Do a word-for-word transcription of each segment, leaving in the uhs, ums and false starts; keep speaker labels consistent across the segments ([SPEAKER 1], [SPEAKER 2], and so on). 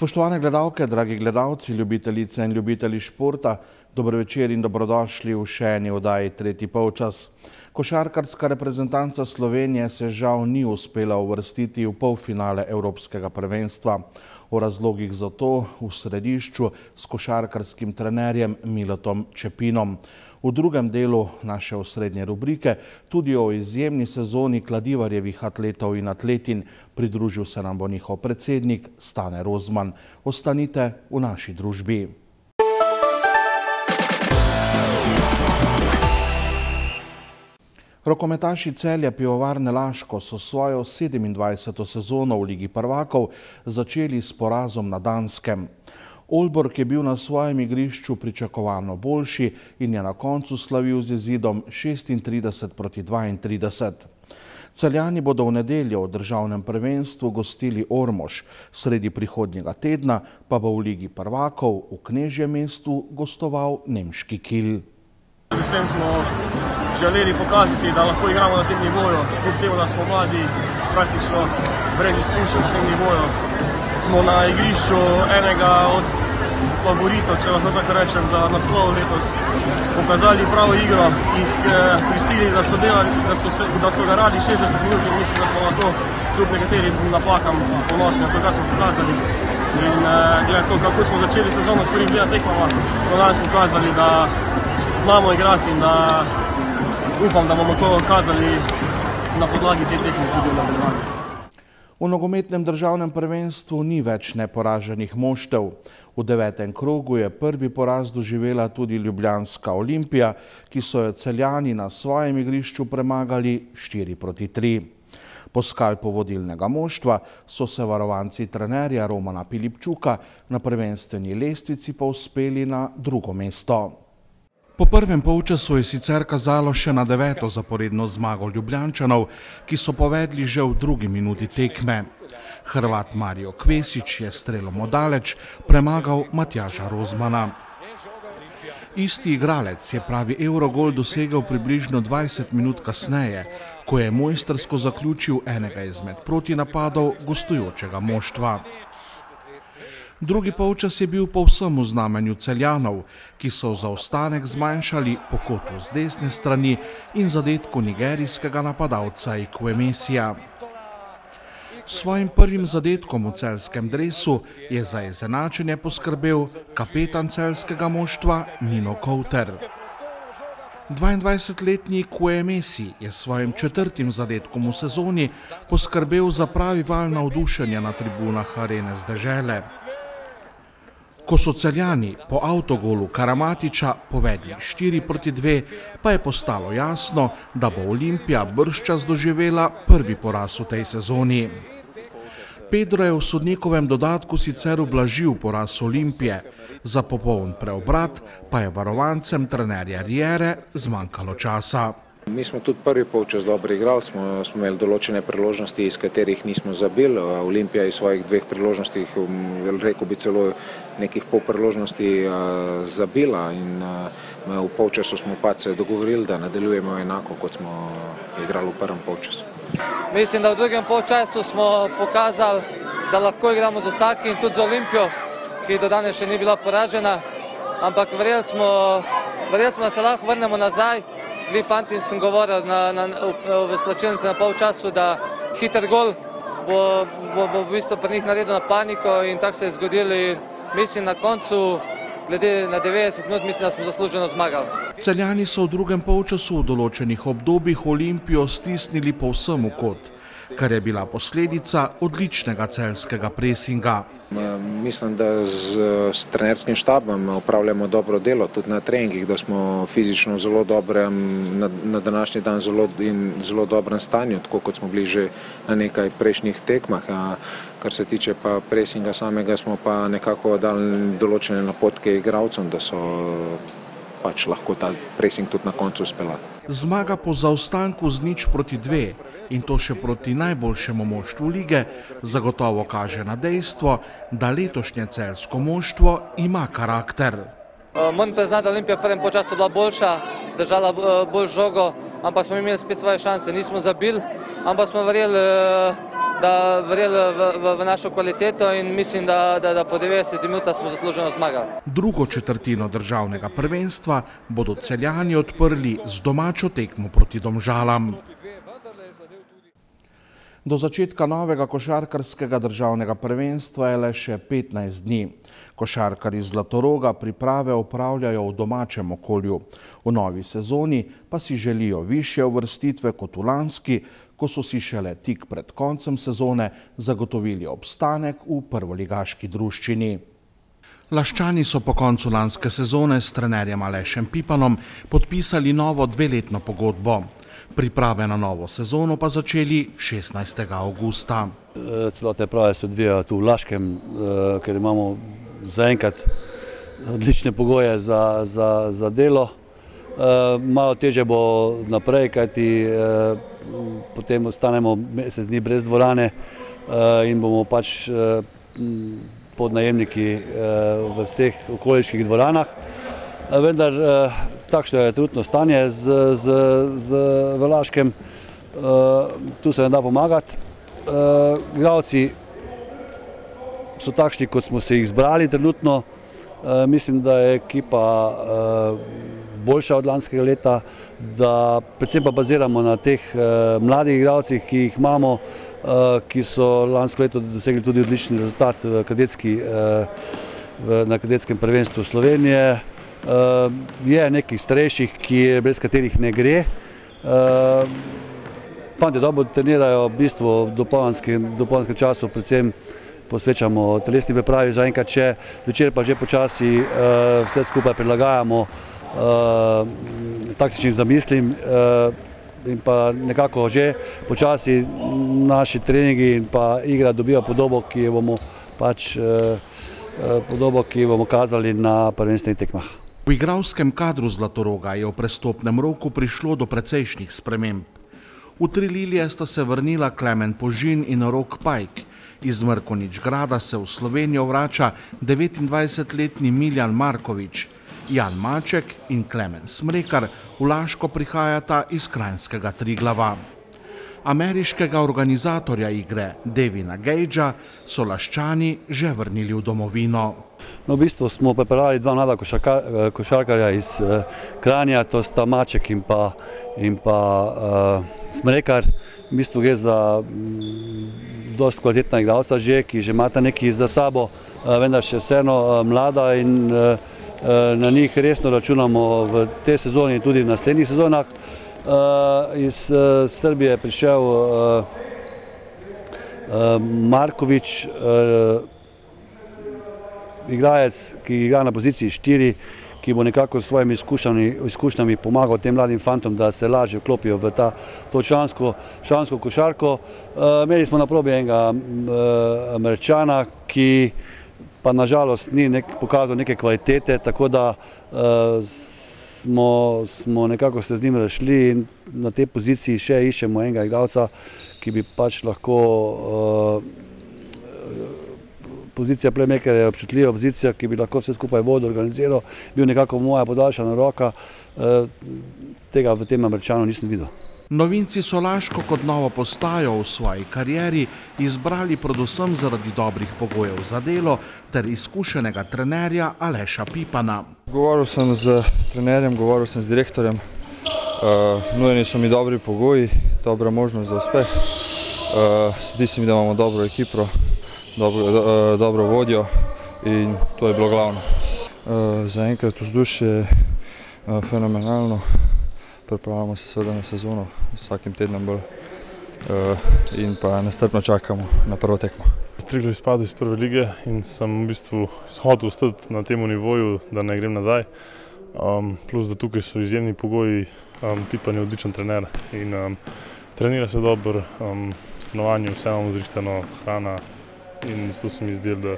[SPEAKER 1] Spoštovane gledalke, dragi gledalci, ljubitelice in ljubitelji športa, dober večer in dobrodošli v še eni oddaji Tretji polčas. Košarkarska reprezentanca Slovenije se žal ni uspela uvrstiti v polfinale Evropskega prvenstva. O razlogih za to v središču s košarkarskim trenerjem Miletom Čepinom. V drugem delu naše osrednje rubrike tudi o izjemni sezoni Kladivarjevih atletov in atletin. Pridružil se nam bo njihov predsednik Stane Rozman. Ostanite v naši družbi. Rokometaši Celja Pivovarne Laško so svojo sedemindvajseto sezono v Ligi prvakov začeli s porazom na Danskem. Aalborg je bil na svojem igrišču pričakovano boljši in je na koncu slavil z izidom šestintrideset proti dvaintrideset. Celjani bodo v nedeljo v državnem prvenstvu gostili Ormož, sredi prihodnjega tedna pa bo v Ligi prvakov v Knežjem mestu gostoval nemški Kiel.
[SPEAKER 2] Predvsem smo želeli pokazati, da lahko igramo na tem nivoju, kljub temu, da smo mladi, praktično brez izkušenj na tem nivoju. Smo na igrišču enega od favoritov, če lahko tako rečem, za naslov letos pokazali pravo igro, jih prisilili, da so delali, da so, se, da so ga radi šestdeset minut in mislim, da smo na to kljub nekaterim napakam ponosni, na to, kar smo pokazali. In glede to, kako smo začeli sezono s prvim dvema tekmama, so danes pokazali, da znamo igrati in da upam, da bomo to kazali na podlagi te tekme tudi v nadaljevanju.
[SPEAKER 1] V nogometnem državnem prvenstvu ni več neporaženih moštev. V devetem krogu je prvi poraz doživela tudi ljubljanska Olimpija, ki so jo Celjani na svojem igrišču premagali štiri proti tri. Po skalpu vodilnega moštva so se varovanci trenerja Romana Pilipčuka na prvenstveni lestvici povzpeli na drugo mesto. Po prvem polčasu je sicer kazalo še na deveto zaporedno zmago Ljubljančanov, ki so povedli že v drugi minuti tekme. Hrvat Mario Kvesić je strelom odaleč premagal Matjaža Rozmana. Isti igralec je pravi Eurogol dosegel približno dvajset minut kasneje, ko je mojstrsko zaključil enega izmed protinapadov gostujočega moštva. Drugi polčas je bil povsem v znamenju Celjanov, ki so zaostanek zmanjšali po kotu z desne strani in zadetku nigerijskega napadalca Ikwemesija. S svojim prvim zadetkom v celjskem dresu je za izenačenje poskrbel kapetan celjskega moštva Nino Kouter. dvaindvajsetletni Ikwemesi je s svojim četrtim zadetkom v sezoni poskrbel za pravi val navdušenja na tribunah Arene z dežele. Ko so Celjani po avtogolu Karamatiča povedli štiri proti dve, pa je postalo jasno, da bo Olimpija bržčas doživela prvi poraz v tej sezoni. Pedro je v sodnikovem dodatku sicer ublažil poraz Olimpije, za popoln preobrat pa je varovancem trenerja Riere zmanjkalo časa.
[SPEAKER 3] Mi smo tudi prvi polčas dobro igrali, smo, smo imeli določene priložnosti, iz katerih nismo zabili. Olimpija iz svojih dveh priložnostih, rekel bi celo nekih pol priložnosti zabila in v polčasu smo pa se dogovorili, da nadaljujemo enako, kot smo igrali v prvem polčasu.
[SPEAKER 4] Mislim, da v drugem polčasu smo pokazali, da lahko igramo z vsakim, tudi z Olimpijo, ki do danes še ni bila poražena, ampak verjeli smo, verjeli smo, da se lahko vrnemo nazaj. Vi fanti sem govoril na, na, v slačilnici na polčasu, da hiter gol bo, bo, bo v bistvu pri njih naredil na paniko in tako se je zgodilo. Mislim na koncu, glede na devetdeset minut, mislim, da smo zasluženo zmagali.
[SPEAKER 1] Celjani so v drugem polčasu v določenih obdobjih Olimpijo stisnili povsem v kot, kar je bila posledica odličnega celjskega presinga.
[SPEAKER 3] Mislim, da z, s trenerskim štabom opravljamo dobro delo, tudi na treningih, da smo fizično zelo dobrem, na, na današnji dan zelo, in zelo dobrem stanju, tako kot smo bili že na nekaj prejšnjih tekmah. A kar se tiče pa presinga samega, smo pa nekako dali določene napotke igralcem, da so pač lahko ta presing tudi na koncu speljati.
[SPEAKER 1] Zmaga po zaostanku z nič proti dve in to še proti najboljšemu moštvu lige zagotovo kaže na dejstvo, da letošnje celjsko moštvo ima karakter.
[SPEAKER 4] Moram priznati, da Olimpija v prvem polčasu bila boljša, držala bolj žogo, ampak smo imeli spet svoje šanse. Nismo zabili, ampak smo verjeli da verjeli v, v, v našo kvaliteto in mislim, da, da, da po devetdesetih minutah smo zasluženo zmagali.
[SPEAKER 1] Drugo četrtino državnega prvenstva bodo Celjani odprli z domačo tekmo proti Domžalam. Do začetka novega košarkarskega državnega prvenstva je le še petnajst dni. Košarkarji Zlatoroga priprave opravljajo v domačem okolju. V novi sezoni pa si želijo višje uvrstitve kot v lanski, ko so si šele tik pred koncem sezone zagotovili obstanek v prvoligaški druščini. Laščani so po koncu lanske sezone s trenerjem Alešem Pipanom podpisali novo dveletno pogodbo. Priprave na novo sezono pa začeli šestnajstega avgusta.
[SPEAKER 5] Celotne prave se odvijajo tu v Laškem, ker imamo zaenkrat odlične pogoje za, za, za delo. Malo težje bo naprej, kajti potem ostanemo mesec dni brez dvorane in bomo pač podnajemniki v vseh okoliških dvoranah. Vendar takšno je trenutno stanje z, z, z v Laškem, tu se ne da pomagati. Igralci so takšni, kot smo se jih zbrali trenutno. Mislim, da je ekipa boljša od lanskega leta, da predvsem pa baziramo na teh mladih igralcih, ki jih imamo, ki so lansko leto dosegli tudi odlični rezultat v kadetski, na kadetskem prvenstvu Slovenije. Je nekih starejših, brez katerih ne gre. Fantje dobro trenirajo, v bistvu v dopoldanskem času predvsem posvečamo telesni pripravi zaenkrat še, zvečer pa že počasi vse skupaj prilagajamo taktičnim zamislim in pa nekako že počasi naši treningi in pa igra dobijo podobo, ki bomo pač podobo, ki bomo kazali na prvenstvenih tekmah.
[SPEAKER 1] V igralskem kadru Zlatoroga je v prestopnem roku prišlo do precejšnjih sprememb. V Trililije sta se vrnila Klemen Požin in Rok Pajk. Iz Mrkonič Grada se v Slovenijo vrača devetindvajsetletni Miljan Markovič. Jan Maček in Klemen Smrekar v Laško prihajata iz kranjskega Triglava. Ameriškega organizatorja igre Devina Gagea so Laščani že vrnili v domovino.
[SPEAKER 5] No, v bistvu smo pripeljali dva mlada košarka, košarkarja iz uh, Kranja, to sta Maček in pa, in pa uh, Smrekar. V bistvu gre za mm, dosti kvalitetna igralca že, ki že imata nekaj za sabo, uh, vendar še vseeno uh, mlada in uh, uh, na njih resno računamo v tej sezoni in tudi v naslednjih sezonah. Uh, iz uh, Srbije je prišel uh, uh, Markovič, uh, igrajec, ki igra na poziciji štiri, ki bo nekako s svojimi izkušnjami, izkušnjami pomagal tem mladim fantom, da se lažje vklopijo v ta, to člansko, člansko košarko. Uh, imeli smo na probi enega uh, Američana, ki pa nažalost ni nek, pokazal neke kvalitete, tako da uh, Smo, smo nekako se z njim razšli in na tej poziciji še iščemo enega igralca, ki bi pač lahko uh, pozicija playmaker je občutljiva pozicija, ki bi lahko vse skupaj vodil, organiziral, bil nekako moja podaljšana roka, uh, tega v tem Američanu nisem videl.
[SPEAKER 1] Novinci so Laško kot novo postajo v svoji karieri izbrali predvsem zaradi dobrih pogojev za delo ter izkušenega trenerja Aleša Pipana.
[SPEAKER 6] Govoril sem z trenerjem, govoril sem z direktorjem, uh, nujeni so mi dobri pogoji, dobra možnost za uspeh. Uh, Zdi se mi, da imamo dobro ekipo, dobro, do, uh, dobro vodjo in to je bilo glavno. Uh, Zaenkrat vzdušje je uh, fenomenalno. Pripravljamo se seveda na sezono, vsakim tednom bolj in pa nestrpno čakamo na prvo tekmo.
[SPEAKER 7] Triglav je izpadel iz prve lige in sem v bistvu hotel ostati na tem nivoju, da ne grem nazaj. Um, plus, da tukaj so izjemni pogoji, um, Pipan je odličen trener in um, trenira se dobro, um, stanovanje, vse imamo zrihtano, hrana in zato se mi zdelo, da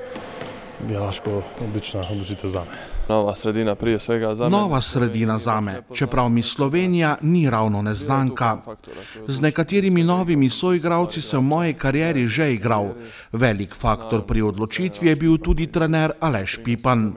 [SPEAKER 7] je Laško odlična odločitev zame.
[SPEAKER 8] Nova sredina prije svega zame.
[SPEAKER 1] Nova sredina zame, čeprav mi Slovenija ni ravno neznanka. Z nekaterimi novimi soigralci sem v moji karieri že igral. Velik faktor pri odločitvi je bil tudi trener Aleš Pipan.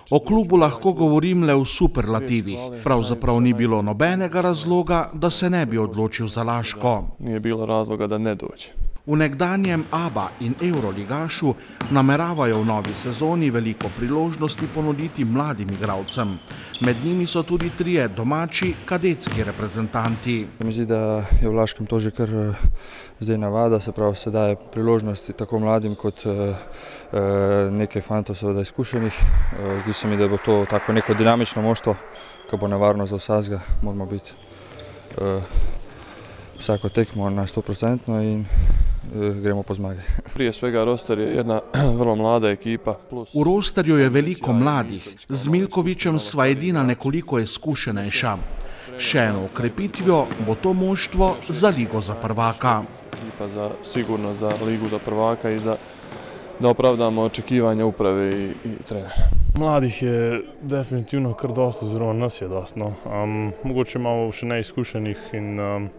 [SPEAKER 1] O klubu lahko govorim le v superlativih. Pravzaprav ni bilo nobenega razloga, da se ne bi odločil za Laško.
[SPEAKER 8] Nije bilo razloga da ne dođe.
[SPEAKER 1] V nekdanjem ABA in Euroligašu nameravajo v novi sezoni veliko priložnosti ponuditi mladim igralcem. Med njimi so tudi trije domači kadetski reprezentanti.
[SPEAKER 6] Mi zdi, da je v Laškem to že kar zdaj navada, se pravi, se daje priložnosti tako mladim kot nekaj fantov seveda izkušenih. Zdi se mi, da bo to tako neko dinamično moštvo, ki bo nevarno za vsakega. Moramo biti vsako tekmo na sto procentno in gremo po zmagi.
[SPEAKER 8] Prije svega roster je jedna vrlo mlada ekipa.
[SPEAKER 1] V rosterju je veliko mladih, z Milkovićem sva edina nekoliko izkušenejša. Še eno okrepitvijo bo to moštvo za ligo za prvaka.
[SPEAKER 8] Ekipa za, sigurno za ligu za prvaka i za, da opravdamo očekivanja uprave i, i trenera.
[SPEAKER 7] Mladih je definitivno kar dosta, oziroma nas je dosta. No. Um, mogoče malo še neizkušenih in um,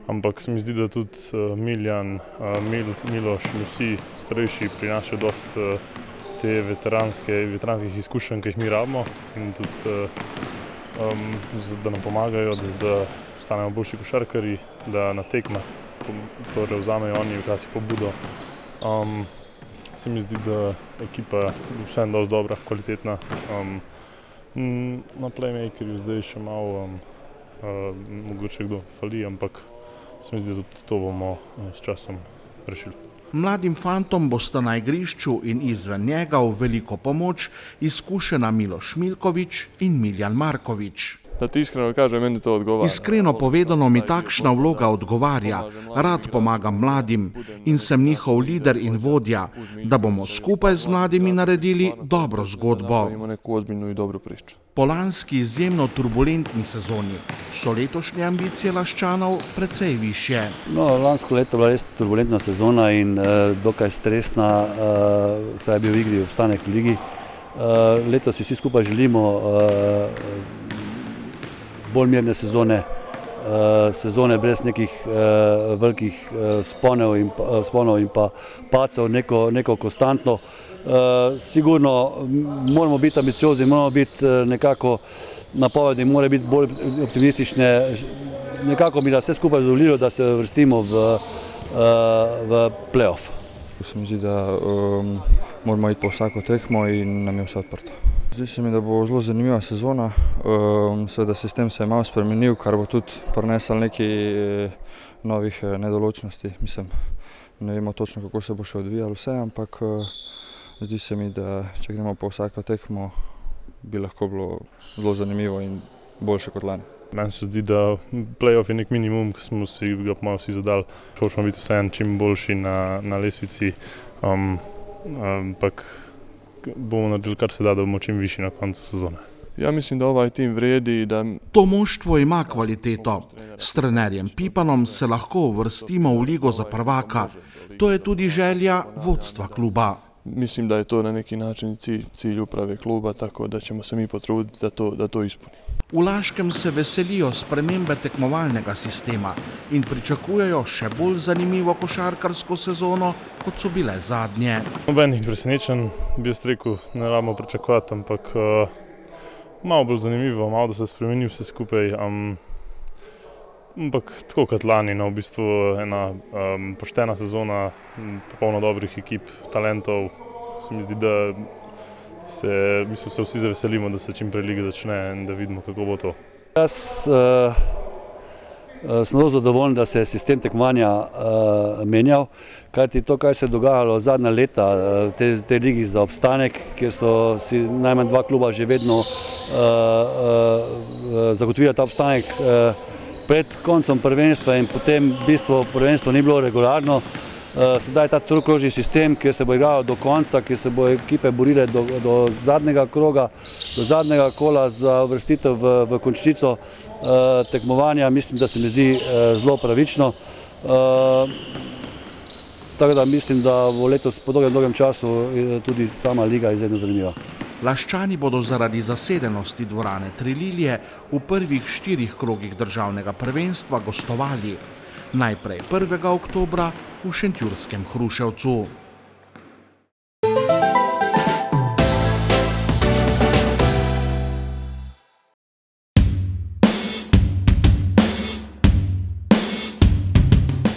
[SPEAKER 7] ampak se mi zdi, da tudi uh, Miljan, uh, Mil, Miloš in vsi starejši prinašajo dosti uh, te veteranske, veteranskih izkušenj, ki jih mi rabimo in tudi, uh, um, da nam pomagajo, da, da postanemo boljši košarkarji, da na tekmah prevzamejo oni včasih pobudo. Um, se mi zdi, da ekipa je vseeno dosti dobra, kvalitetna. Um, na playmakerju zdaj še malo um, uh, mogoče kdo fali, ampak se mi zdi, da tudi to bomo s časom rešili.
[SPEAKER 1] Mladim fantom bosta na igrišču in izven njega v veliko pomoč izkušena Miloš Milković in Miljan Marković.
[SPEAKER 8] Da ti iskreno kažem, meni to odgovarja.
[SPEAKER 1] Iskreno povedano mi takšna vloga odgovarja. Rad pomagam mladim in sem njihov lider in vodja, da bomo skupaj z mladimi naredili dobro zgodbo.
[SPEAKER 8] Imamo neku ozbiljnu i dobru priču.
[SPEAKER 1] Po lanski izjemno turbulentni sezoni so letošnje ambicije Laščanov precej višje.
[SPEAKER 5] No, lansko leto je bila res turbulentna sezona in uh, dokaj stresna, uh, saj je bil v igri obstanek v ligi. Uh, letos si vsi skupaj želimo uh, bolj mirne sezone, uh, sezone brez nekih uh, velikih uh, sponov in, uh, sponov in pa pacov, neko, neko konstantno. Uh, sigurno moramo biti ambiciozni, moramo biti uh, nekako napovedi, mora biti bolj optimistične, nekako mi da vse skupaj zadovoljilo, da se vrstimo v, uh, v play-off.
[SPEAKER 6] Se mi zdi, da um, moramo iti po vsako tekmo in nam je vse odprto. Zdi se mi, da bo zelo zanimiva sezona, um, seveda sistem se je malo spremenil, kar bo tudi prinesel nekaj novih nedoločnosti. Mislim, ne vemo točno, kako se bo še odvijalo vse, ampak uh, zdi se mi, da če gremo po vsako tekmo, bi lahko bilo zelo zanimivo in boljše kot lani.
[SPEAKER 7] Meni se zdi, da play-off je nek minimum, ki smo si ga malo vsi zadali. Hočemo biti vseeno čim boljši na, na lestvici, um, ampak bomo naredili kar se da, da bomo čim višji na koncu sezone.
[SPEAKER 8] Ja mislim, da ovaj tim vredi, da...
[SPEAKER 1] To moštvo ima kvaliteto. S trenerjem Pipanom se lahko uvrstimo v ligo za prvaka. To je tudi želja vodstva kluba.
[SPEAKER 8] Mislim, da je to na neki način cilj, cilj uprave kluba, tako da ćemo se mi potruditi da to, da to ispunimo.
[SPEAKER 1] V Laškem se veselijo spremembe tekmovalnega sistema in pričakujejo še bolj zanimivo košarkarsko sezono, kot so bile zadnje.
[SPEAKER 7] Nobenih presenečenj, bi jaz rekel, ne rabimo pričakovati, ampak uh, malo bolj zanimivo, malo da se spremeni vse skupaj. Um, ampak tako kot lani, no, v bistvu ena um, poštena sezona, popolno dobrih ekip, talentov. Se mi zdi, da se, v bistvu se vsi zaveselimo, da se čim prej liga začne in da vidimo, kako bo to.
[SPEAKER 5] Jaz uh, sem zelo zadovoljen, da se je sistem tekmovanja uh, menjal, kajti to, kaj se je dogajalo zadnja leta v te, te ligi za obstanek, kjer so si najmanj dva kluba že vedno uh, uh, zagotovila ta obstanek uh, pred koncem prvenstva in potem v bistvu prvenstvo ni bilo regularno. Sedaj ta trokrožni sistem, kjer se bo igralo do konca, kjer se bo ekipe borile do, do zadnjega kroga, do zadnjega kola za uvrstitev v, v končnico eh, tekmovanja, mislim, da se mi zdi eh, zelo pravično. Eh, tako da mislim, da bo letos po dolgem, dolgem času tudi sama liga izredno zanimiva.
[SPEAKER 1] Laščani bodo zaradi zasedenosti dvorane Trililje v prvih štirih krogih državnega prvenstva gostovali. Najprej prvega oktobra v šentjurskem Hruševcu.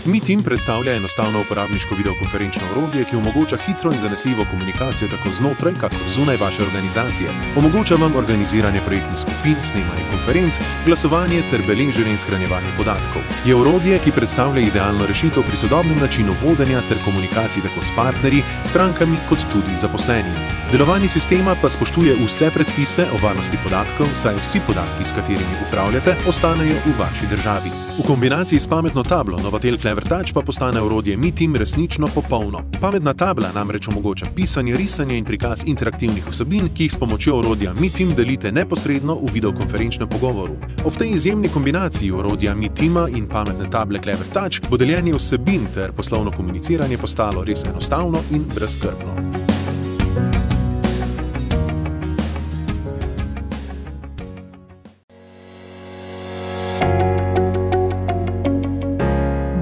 [SPEAKER 9] MeTeam predstavlja enostavno uporabniško videokonferenčno orodje, ki omogoča hitro in zanesljivo komunikacijo tako znotraj, kakor zunaj vaše organizacije. Omogoča vam organiziranje projektnih skupin, snemanje konferenc, glasovanje ter beleženje in shranjevanje podatkov. Je orodje, ki predstavlja idealno rešitev pri sodobnem načinu vodenja ter komunikaciji tako s partnerji, strankami kot tudi zaposlenimi. Delovanje sistema pa spoštuje vse predpise o varnosti podatkov, saj vsi podatki, s katerimi upravljate, ostanejo v vaši državi. V kombinaciji s pametno tablo Novatel CleverTouch pa postane orodje MeTeam resnično popolno. Pametna tabla namreč omogoča pisanje, risanje in prikaz interaktivnih vsebin, ki jih s pomočjo orodja MeTeam delite neposredno v videokonferenčnem pogovoru. Ob tej izjemni kombinaciji orodja MeTeama in pametne table CleverTouch bo deljenje vsebin ter poslovno komuniciranje postalo res enostavno in brezskrbno.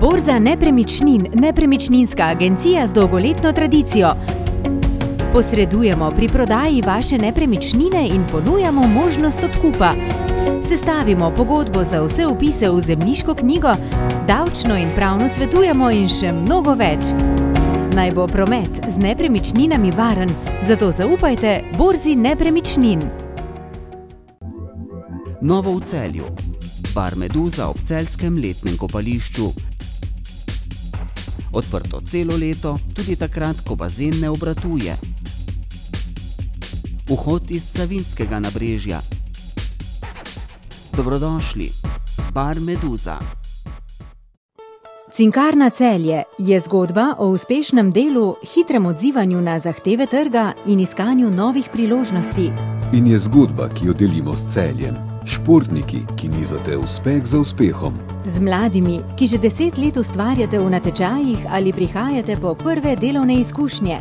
[SPEAKER 10] Borza nepremičnin, nepremičninska agencija z dolgoletno tradicijo. Posredujemo pri prodaji vaše nepremičnine in ponujamo možnost odkupa. Sestavimo pogodbo za vse vpise v zemljiško knjigo, davčno in pravno svetujemo in še mnogo več. Naj bo promet z nepremičninami varen, zato zaupajte Borzi nepremičnin.
[SPEAKER 11] Novo v Celju. Bar Meduza ob celjskem letnem kopališču. Odprto celo leto, tudi takrat, ko bazen ne obratuje. Vhod iz Savinjskega nabrežja. Dobrodošli, Bar Meduza.
[SPEAKER 10] Cinkarna Celje je zgodba o uspešnem delu, hitrem odzivanju na zahteve trga in iskanju novih priložnosti.
[SPEAKER 12] In je zgodba, ki jo delimo s Celjem. Športniki, ki nizate uspeh za uspehom.
[SPEAKER 10] Z mladimi, ki že deset let ustvarjate v natečajih ali prihajate po prve delovne izkušnje.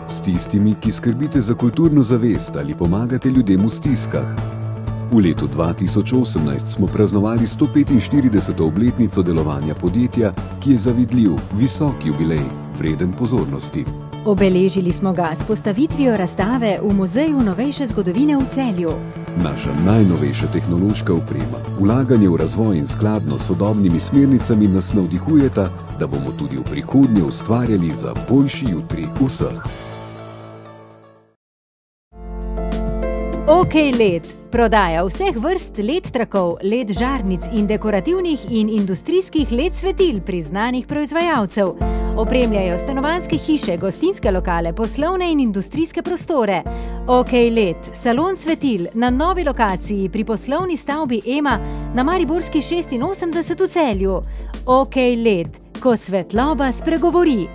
[SPEAKER 12] S tistimi, ki skrbite za kulturno zavest ali pomagate ljudem v stiskah. V letu dva tisoč osemnajst smo praznovali sto petinštirideseto obletnico delovanja podjetja, ki je zavidljiv, visok jubilej, vreden pozornosti.
[SPEAKER 10] Obeležili smo ga s postavitvijo razstave v Muzeju novejše zgodovine v Celju.
[SPEAKER 12] Naša najnovejša tehnološka oprema, vlaganje v razvoj in skladno s sodobnimi smernicami nas navdihujeta, da bomo tudi v prihodnje ustvarjali za boljši jutri vseh.
[SPEAKER 10] OK Led prodaja vseh vrst L E D trakov, L E D žarnic in dekorativnih in industrijskih L E D svetil priznanih proizvajalcev. Opremljajo stanovanjske hiše, gostinske lokale, poslovne in industrijske prostore. OK Led, salon svetil na novi lokaciji pri poslovni stavbi Ema na Mariborski šestinosemdeset v Celju. OK Led, ko svetloba spregovori.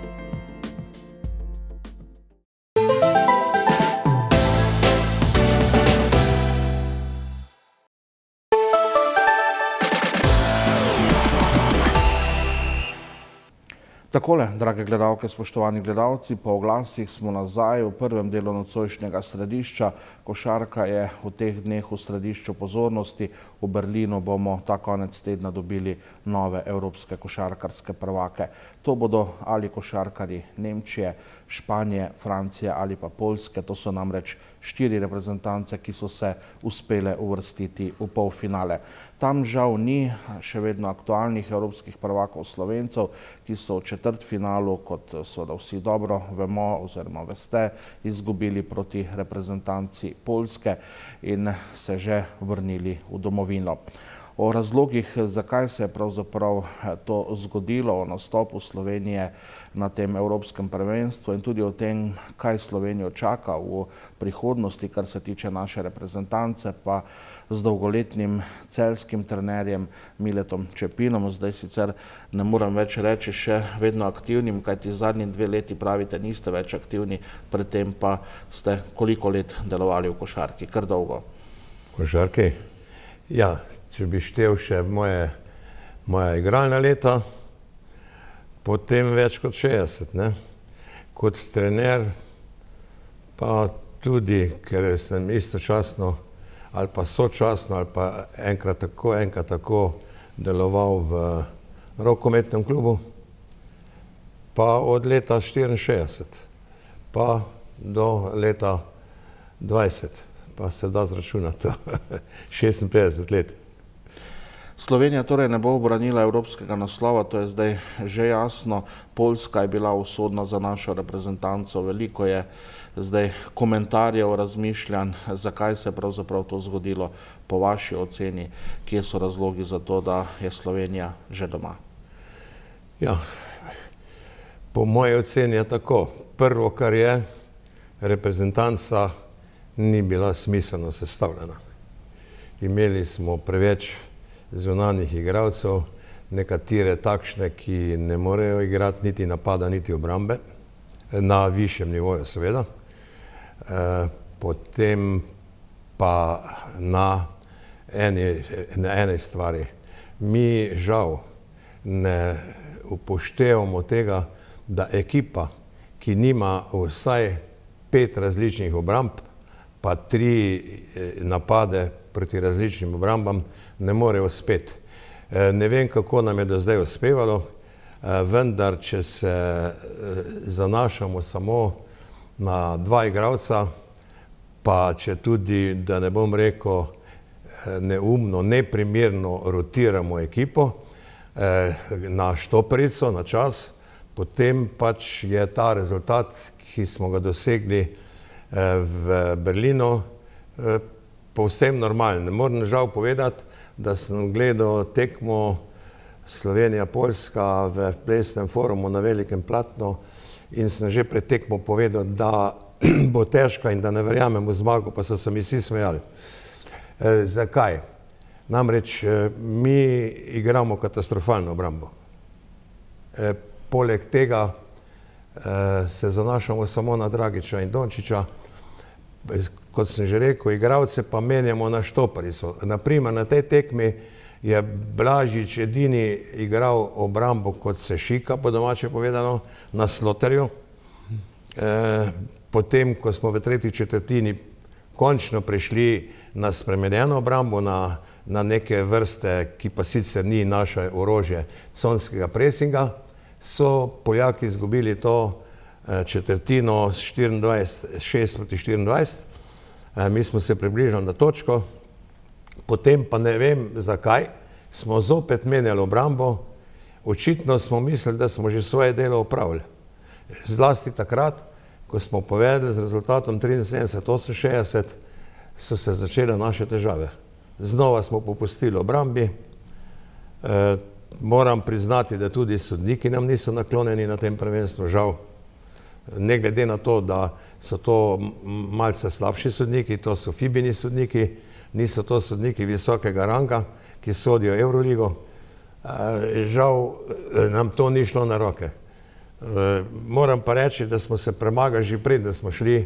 [SPEAKER 1] Takole, drage gledalke, spoštovani gledalci, po oglasih smo nazaj v prvem delu nocojšnjega središča. Košarka je v teh dneh v središču pozornosti. V Berlinu bomo ta konec tedna dobili nove evropske košarkarske prvake. To bodo ali košarkarji Nemčije, Španije, Francije ali pa Poljske. To so namreč štiri reprezentance, ki so se uspele uvrstiti v polfinale. Tam žal ni še vedno aktualnih evropskih prvakov Slovencev, ki so v četrtfinalu, kot seveda vsi dobro vemo oziroma veste, izgubili proti reprezentanci Poljske in se že vrnili v domovino. O razlogih, zakaj se je pravzaprav to zgodilo, o nastopu Slovenije na tem evropskem prvenstvu in tudi o tem, kaj Slovenijo čaka v prihodnosti, kar se tiče naše reprezentance, pa z dolgoletnim celjskim trenerjem Miletom Čepinom. Zdaj sicer ne moram več reči še vedno aktivnim, kajti zadnji dve leti pravite niste več aktivni, predtem pa ste koliko let delovali v košarki? Kar dolgo.
[SPEAKER 13] Košarki? Ja, če bi štel še moje, moja igralna leta, potem več kot šestdeset, ne? Kot trener pa tudi, ker sem istočasno ali pa sočasno ali pa enkrat tako, enkrat tako deloval v rokometnem klubu, pa od leta štiriinšestdeset pa do leta dvajset, pa se da zračunati, šestinpetdeset let.
[SPEAKER 1] Slovenija torej ne bo obranila evropskega naslova, to je zdaj že jasno. Poljska je bila usodna za našo reprezentanco. Veliko je zdaj komentarjev, razmišljanj, zakaj se je pravzaprav to zgodilo. Po vaši oceni, kje so razlogi za to, da je Slovenija že doma?
[SPEAKER 13] Ja, po moji oceni je tako. Prvo, kar je, reprezentanca ni bila smiselno sestavljena. Imeli smo preveč zunanjih igralcev, nekatere takšne, ki ne morejo igrati niti napada, niti obrambe, na višjem nivoju seveda. E, potem pa na eni, na eni stvari. Mi žal ne upoštevamo tega, da ekipa, ki nima vsaj pet različnih obramb, pa tri napade proti različnim obrambam, ne more uspeti. Ne vem, kako nam je do zdaj uspevalo, vendar, če se zanašamo samo na dva igralca, pa če tudi, da ne bom rekel, neumno, neprimerno rotiramo ekipo na štoperico, na čas, potem pač je ta rezultat, ki smo ga dosegli v Berlinu, povsem normalen. Moram žal povedati, da sem gledal tekmo Slovenija-Poljska v plesnem forumu na velikem platnu in sem že pred tekmo povedal, da bo težka in da ne verjamem v zmago, pa so se mi vsi smejali. E, zakaj? Namreč mi igramo katastrofalno obrambo. E, poleg tega e, se zanašamo samo na Dragića in Dončića. Kot sem že rekel, igralce pa menjamo na štoparico. Naprimer, na tej tekmi je Blažič edini igral obrambo kot se šika, po domače povedano, na Sloterju. E, potem, ko smo v tretji četrtini končno prišli na spremenjeno obrambo, na, na neke vrste, ki pa sicer ni naše orožje, conskega presinga, so Poljaki izgubili to četrtino s štiriindvajset, šest proti štiriindvajset. Mi smo se približali na točko, potem pa ne vem zakaj, smo zopet menjali obrambo, očitno smo mislili, da smo že svoje delo opravili. Zlasti takrat, ko smo povedali z rezultatom triinsedemdeset oseminšestdeset, so se začele naše težave. Znova smo popustili obrambi, e, moram priznati, da tudi sodniki nam niso naklonjeni na tem prvenstvu, žal. Ne glede na to, da so to malce slabši sodniki, to so Fibini sodniki, niso to sodniki visokega ranga, ki sodijo Euroligo. Žal nam to ni šlo na roke. Moram pa reči, da smo se premagali že pred, da smo šli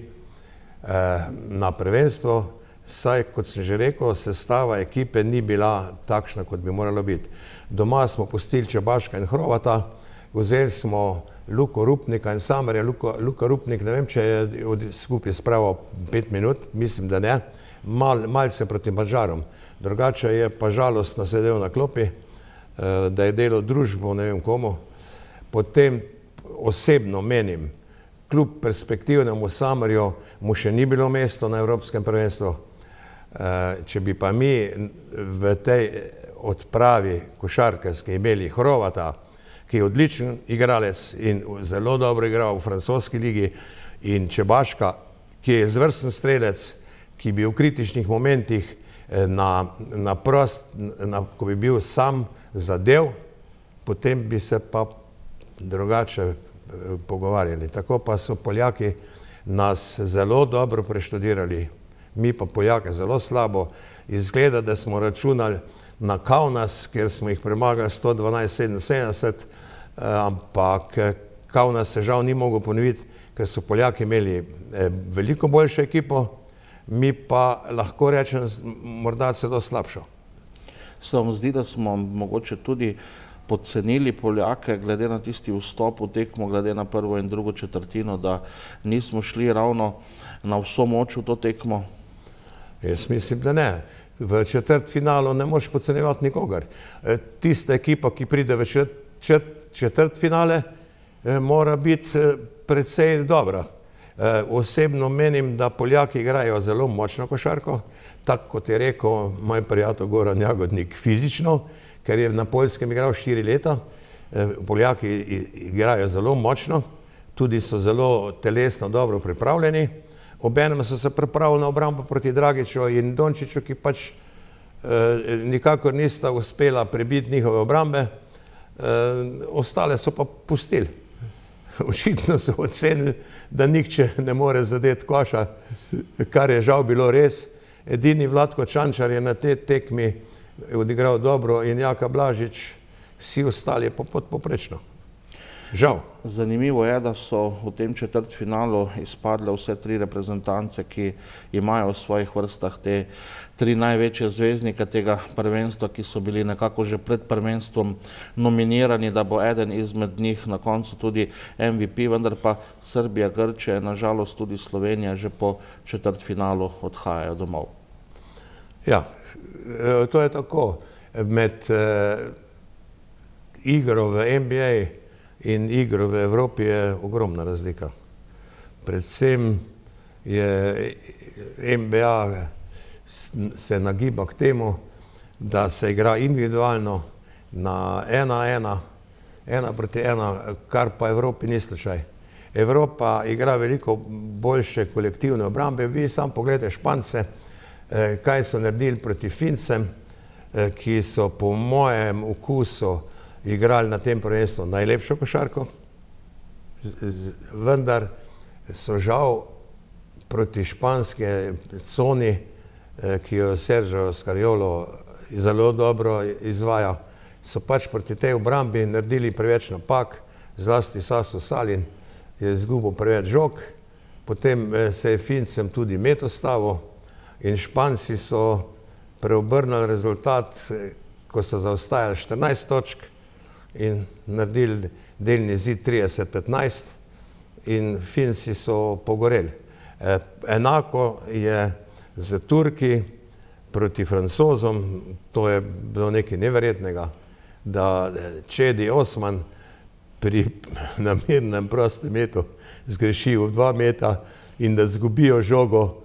[SPEAKER 13] na prvenstvo, saj, kot sem že rekel, sestava ekipe ni bila takšna, kot bi morala biti. Doma smo pustili Čebaška in Hrovata, vzeli smo Luko Rupnika in Samerja. Luka, Luka Rupnik, ne vem, če je skupaj spravil pet minut, mislim, da ne, Mal, malce proti Mađarom. Drugače je pa žalostno sedel na klopi, da je delal družbo, ne vem komu. Potem osebno menim, kljub perspektivnemu Samerju mu še ni bilo mesto na Evropskem prvenstvu. Če bi pa mi v tej odpravi košarkarski imeli Hrovata, ki je odličen igralec in zelo dobro igral v francoski ligi, in Čebaška, ki je izvrsten strelec, ki bi v kritičnih momentih na, na prost, na, ko bi bil sam zadev, potem bi se pa drugače pogovarjali. Tako pa so Poljaki nas zelo dobro preštudirali, mi pa Poljake zelo slabo. Izgleda, da smo računali na Kaunas, kjer smo jih premagali sto dvanajst sedeminsedemdeset, ampak Kaunas se žal ni mogel ponoviti, ker so Poljaki imeli veliko boljšo ekipo, mi pa lahko rečem morda celo slabšo.
[SPEAKER 1] Se vam zdi, da smo mogoče tudi podcenili Poljake glede na tisti vstop v tekmo, glede na prvo in drugo četrtino, da nismo šli ravno na vso moč v to tekmo?
[SPEAKER 13] Jaz mislim, da ne. V četrtfinalu ne moreš podcenjevati nikogar. Tista ekipa, ki pride v četrtfinale, mora biti precej dobra. Osebno menim, da Poljaki igrajo zelo močno košarko. tako kot je rekel moj prijatelj Goran Jagodnik, fizično, ker je na Poljskem igral štiri leta. Poljaki igrajo zelo močno, tudi so zelo telesno dobro pripravljeni. Obenem so se pripravili na obrambo proti Dragiću in Dončiću, ki pač nikakor nista uspela prebiti njihove obrambe, ostale so pa pustili. Očitno so ocenili, da nihče ne more zadeti koša, kar je žal bilo res. Edini Vlatko Čančar je na tej tekmi odigral dobro in Jaka Blažič, vsi ostali pa podpoprečno. Žal.
[SPEAKER 1] Zanimivo je, da so v tem četrtfinalu izpadle vse tri reprezentance, ki imajo v svojih vrstah te tri največje zvezdnike tega prvenstva, ki so bili nekako že pred prvenstvom nominirani, da bo eden izmed njih na koncu tudi M V P, vendar pa Srbija, Grčija, nažalost tudi Slovenija že po četrtfinalu odhajajo domov.
[SPEAKER 13] Ja, to je tako. Med igro v N B A in igro v Evropi je ogromna razlika. Predvsem je N B A se nagiba k temu, da se igra individualno na ena ena, ena proti ena, kar pa Evropi ni slučaj. Evropa igra veliko boljše kolektivne obrambe. Vi sam pogledajte Špance, kaj so naredili proti Fincem, ki so po mojem okusu igrali na tem prvenstvu najlepšo košarko, vendar so žal proti španske coni, ki jo Sergio Scariolo zelo dobro izvaja, so pač proti tej obrambi naredili preveč napak, zlasti Sasu Salin je izgubil preveč žog, potem se je Fincem tudi met ustavil in Španci so preobrnili rezultat, ko so zaostajali štirinajst točk, in naredili delni zid trideset petnajst in Finci so pogoreli. Enako je z Turki proti Francozom, to je bilo nekaj neverjetnega, da Čedi Osman pri namernem prostem metu zgreši v dva meta in da zgubijo žogo,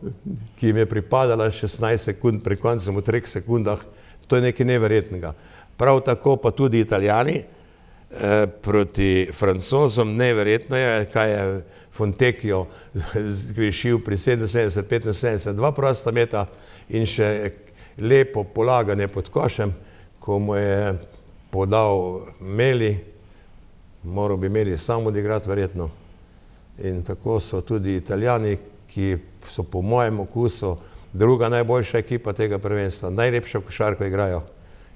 [SPEAKER 13] ki jim je pripadala šestnajst sekund, pri koncem v treh sekundah, to je nekaj neverjetnega. Prav tako pa tudi Italijani proti Francozom, neverjetno je, kaj je Fontecchio zgrešil pri sedeminsedemdeset petinsedemdeset, dva prosta meta in še lepo polaganje pod košem, ko mu je podal Meli, moral bi Meli sam odigrati verjetno. In tako so tudi Italijani, ki so po mojem okusu druga najboljša ekipa tega prvenstva, najlepšo košarko igrajo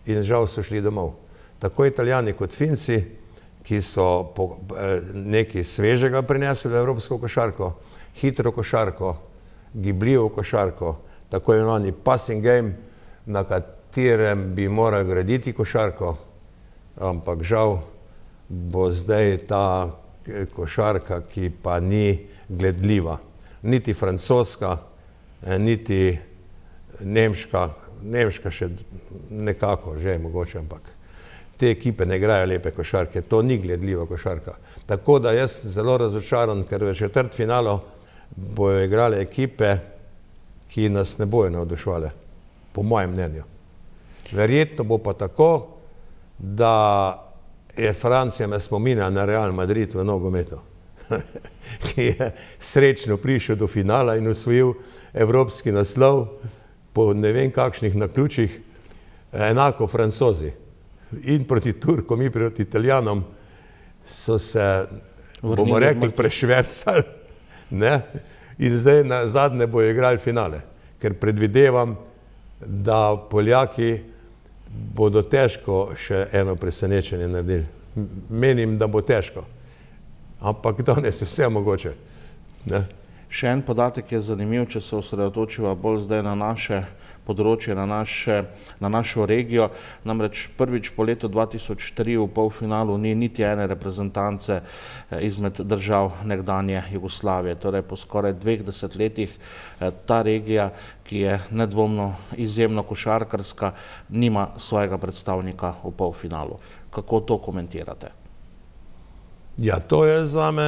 [SPEAKER 13] in žal so šli domov. Tako Italijani kot Finci, ki so nekaj svežega prinesli v evropsko košarko, hitro košarko, gibljivo košarko, tako imenovani passing game, na katerem bi morali graditi košarko, ampak žal bo zdaj ta košarka, ki pa ni gledljiva. Niti francoska, niti nemška, nemška še nekako, že je mogoče, ampak te ekipe ne igrajo lepe košarke, to ni gledljiva košarka. Tako da jaz zelo razočaran, ker v četrtfinalu bojo igrale ekipe, ki nas ne bojo navduševale, po mojem mnenju. Verjetno bo pa tako, da je Francija me spominja na Real Madrid v nogometu, ki je srečno prišel do finala in osvojil evropski naslov po ne vem kakšnih naključjih, enako Francozi. In proti Turkom, in proti Italijanom so se, bomo rekli, prešvercali, ne? In zdaj na zadnje bojo igrali finale, ker predvidevam, da Poljaki bodo težko še eno presenečenje naredili. Menim, da bo težko, ampak danes je vse mogoče, ne?
[SPEAKER 1] Še en podatek je zanimiv, če se osredotočiva bolj zdaj na naše področje, na, naše, na našo regijo. Namreč prvič po letu dva tisoč tri v polfinalu ni niti ene reprezentance izmed držav nekdanje Jugoslavije. Torej po skoraj dveh desetletjih ta regija, ki je nedvomno izjemno košarkarska, nima svojega predstavnika v polfinalu. Kako to komentirate?
[SPEAKER 13] Ja, to je zame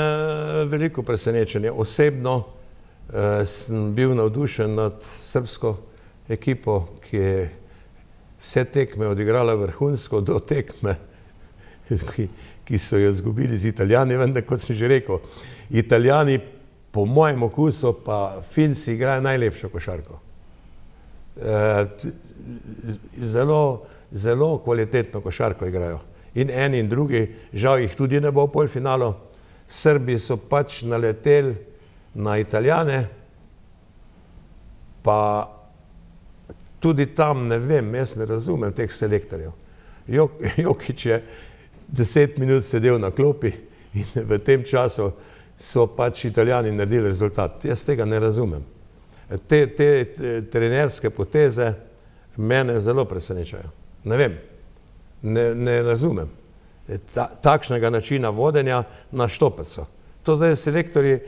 [SPEAKER 13] veliko presenečenje. Osebno eh, sem bil navdušen nad srbsko ekipo, ki je vse tekme odigrala vrhunsko do tekme, ki, ki so jo izgubili z Italijani, vendar, kot sem že rekel, Italijani po mojem okusu pa Finci igrajo najlepšo košarko. E, zelo, zelo kvalitetno košarko igrajo. In eni in drugi, žal jih tudi ne bo v polfinalu. Srbi so pač naleteli na Italijane, pa tudi tam ne vem, jaz ne razumem teh selektorjev. Jok, Jokić je deset minut sedel na klopi in v tem času so pač Italijani naredili rezultat. Jaz tega ne razumem. Te, te, te trenerske poteze mene zelo presenečajo. Ne vem, ne, ne razumem. Ta, takšnega načina vodenja na štoperco. To zdaj selektorji,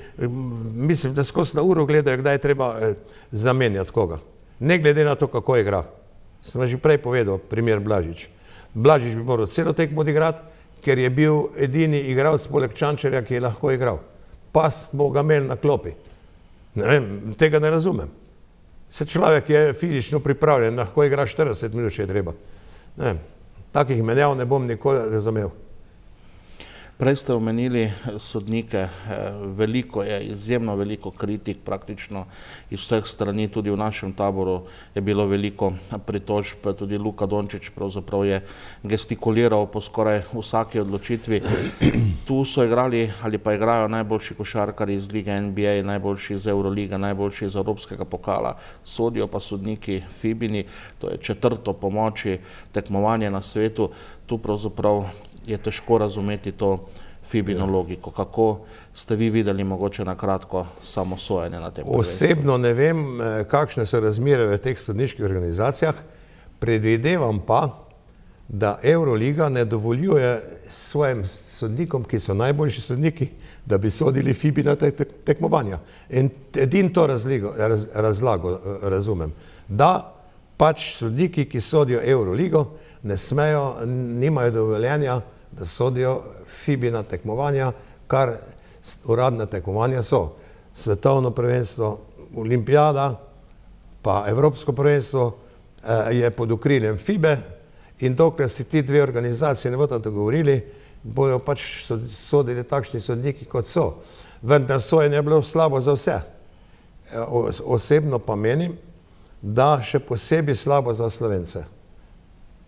[SPEAKER 13] mislim, da skozi na uro gledajo, kdaj je treba eh, zamenjati koga. Ne glede na to, kako igra. Sem že prej povedal, primer Blažič. Blažič bi moral celo tekmo odigrati, ker je bil edini igralec poleg Čančarja, ki je lahko igral. Pa smo ga imeli na klopi. Ne vem, tega ne razumem. Se človek je fizično pripravljen, lahko igra štirideset minut, če je treba. Ne vem, takih menjav ne bom nikoli razumel.
[SPEAKER 1] Prej ste omenili sodnike, veliko je, izjemno veliko kritik praktično iz vseh strani, tudi v našem taboru je bilo veliko pritožb, tudi Luka Dončić pravzaprav je gestikuliral po skoraj vsaki odločitvi. Tu so igrali ali pa igrajo najboljši košarkari iz lige N B A, najboljši iz Euroliga, najboljši iz Evropskega pokala, sodijo pa sodniki Fibini, to je četrto po moči tekmovanje na svetu. Tu pravzaprav je težko razumeti to Fibino logiko. Kako ste vi videli mogoče na kratko samosojanje na tem prvenstvu?
[SPEAKER 13] Osebno ne vem, kakšne so razmere v teh sodniških organizacijah. Predvidevam pa, da Euroliga ne dovoljuje svojim sodnikom, ki so najboljši sodniki, da bi sodili Fibina tekmovanja. In edin to razligo, raz, razlago razumem. Da pač sodniki, ki sodijo Euroligo, ne smejo, nimajo dovoljenja, da sodijo Fibina tekmovanja, kar uradne tekmovanja so. Svetovno prvenstvo, olimpijada, pa Evropsko prvenstvo eh, je pod okriljem Fibe in dokler si ti dve organizacije ne bodo dogovorili, bojo pač sodili takšni sodniki, kot so. Vendar sojenje je bilo slabo za vse. O, osebno pa menim, da še posebej slabo za Slovence.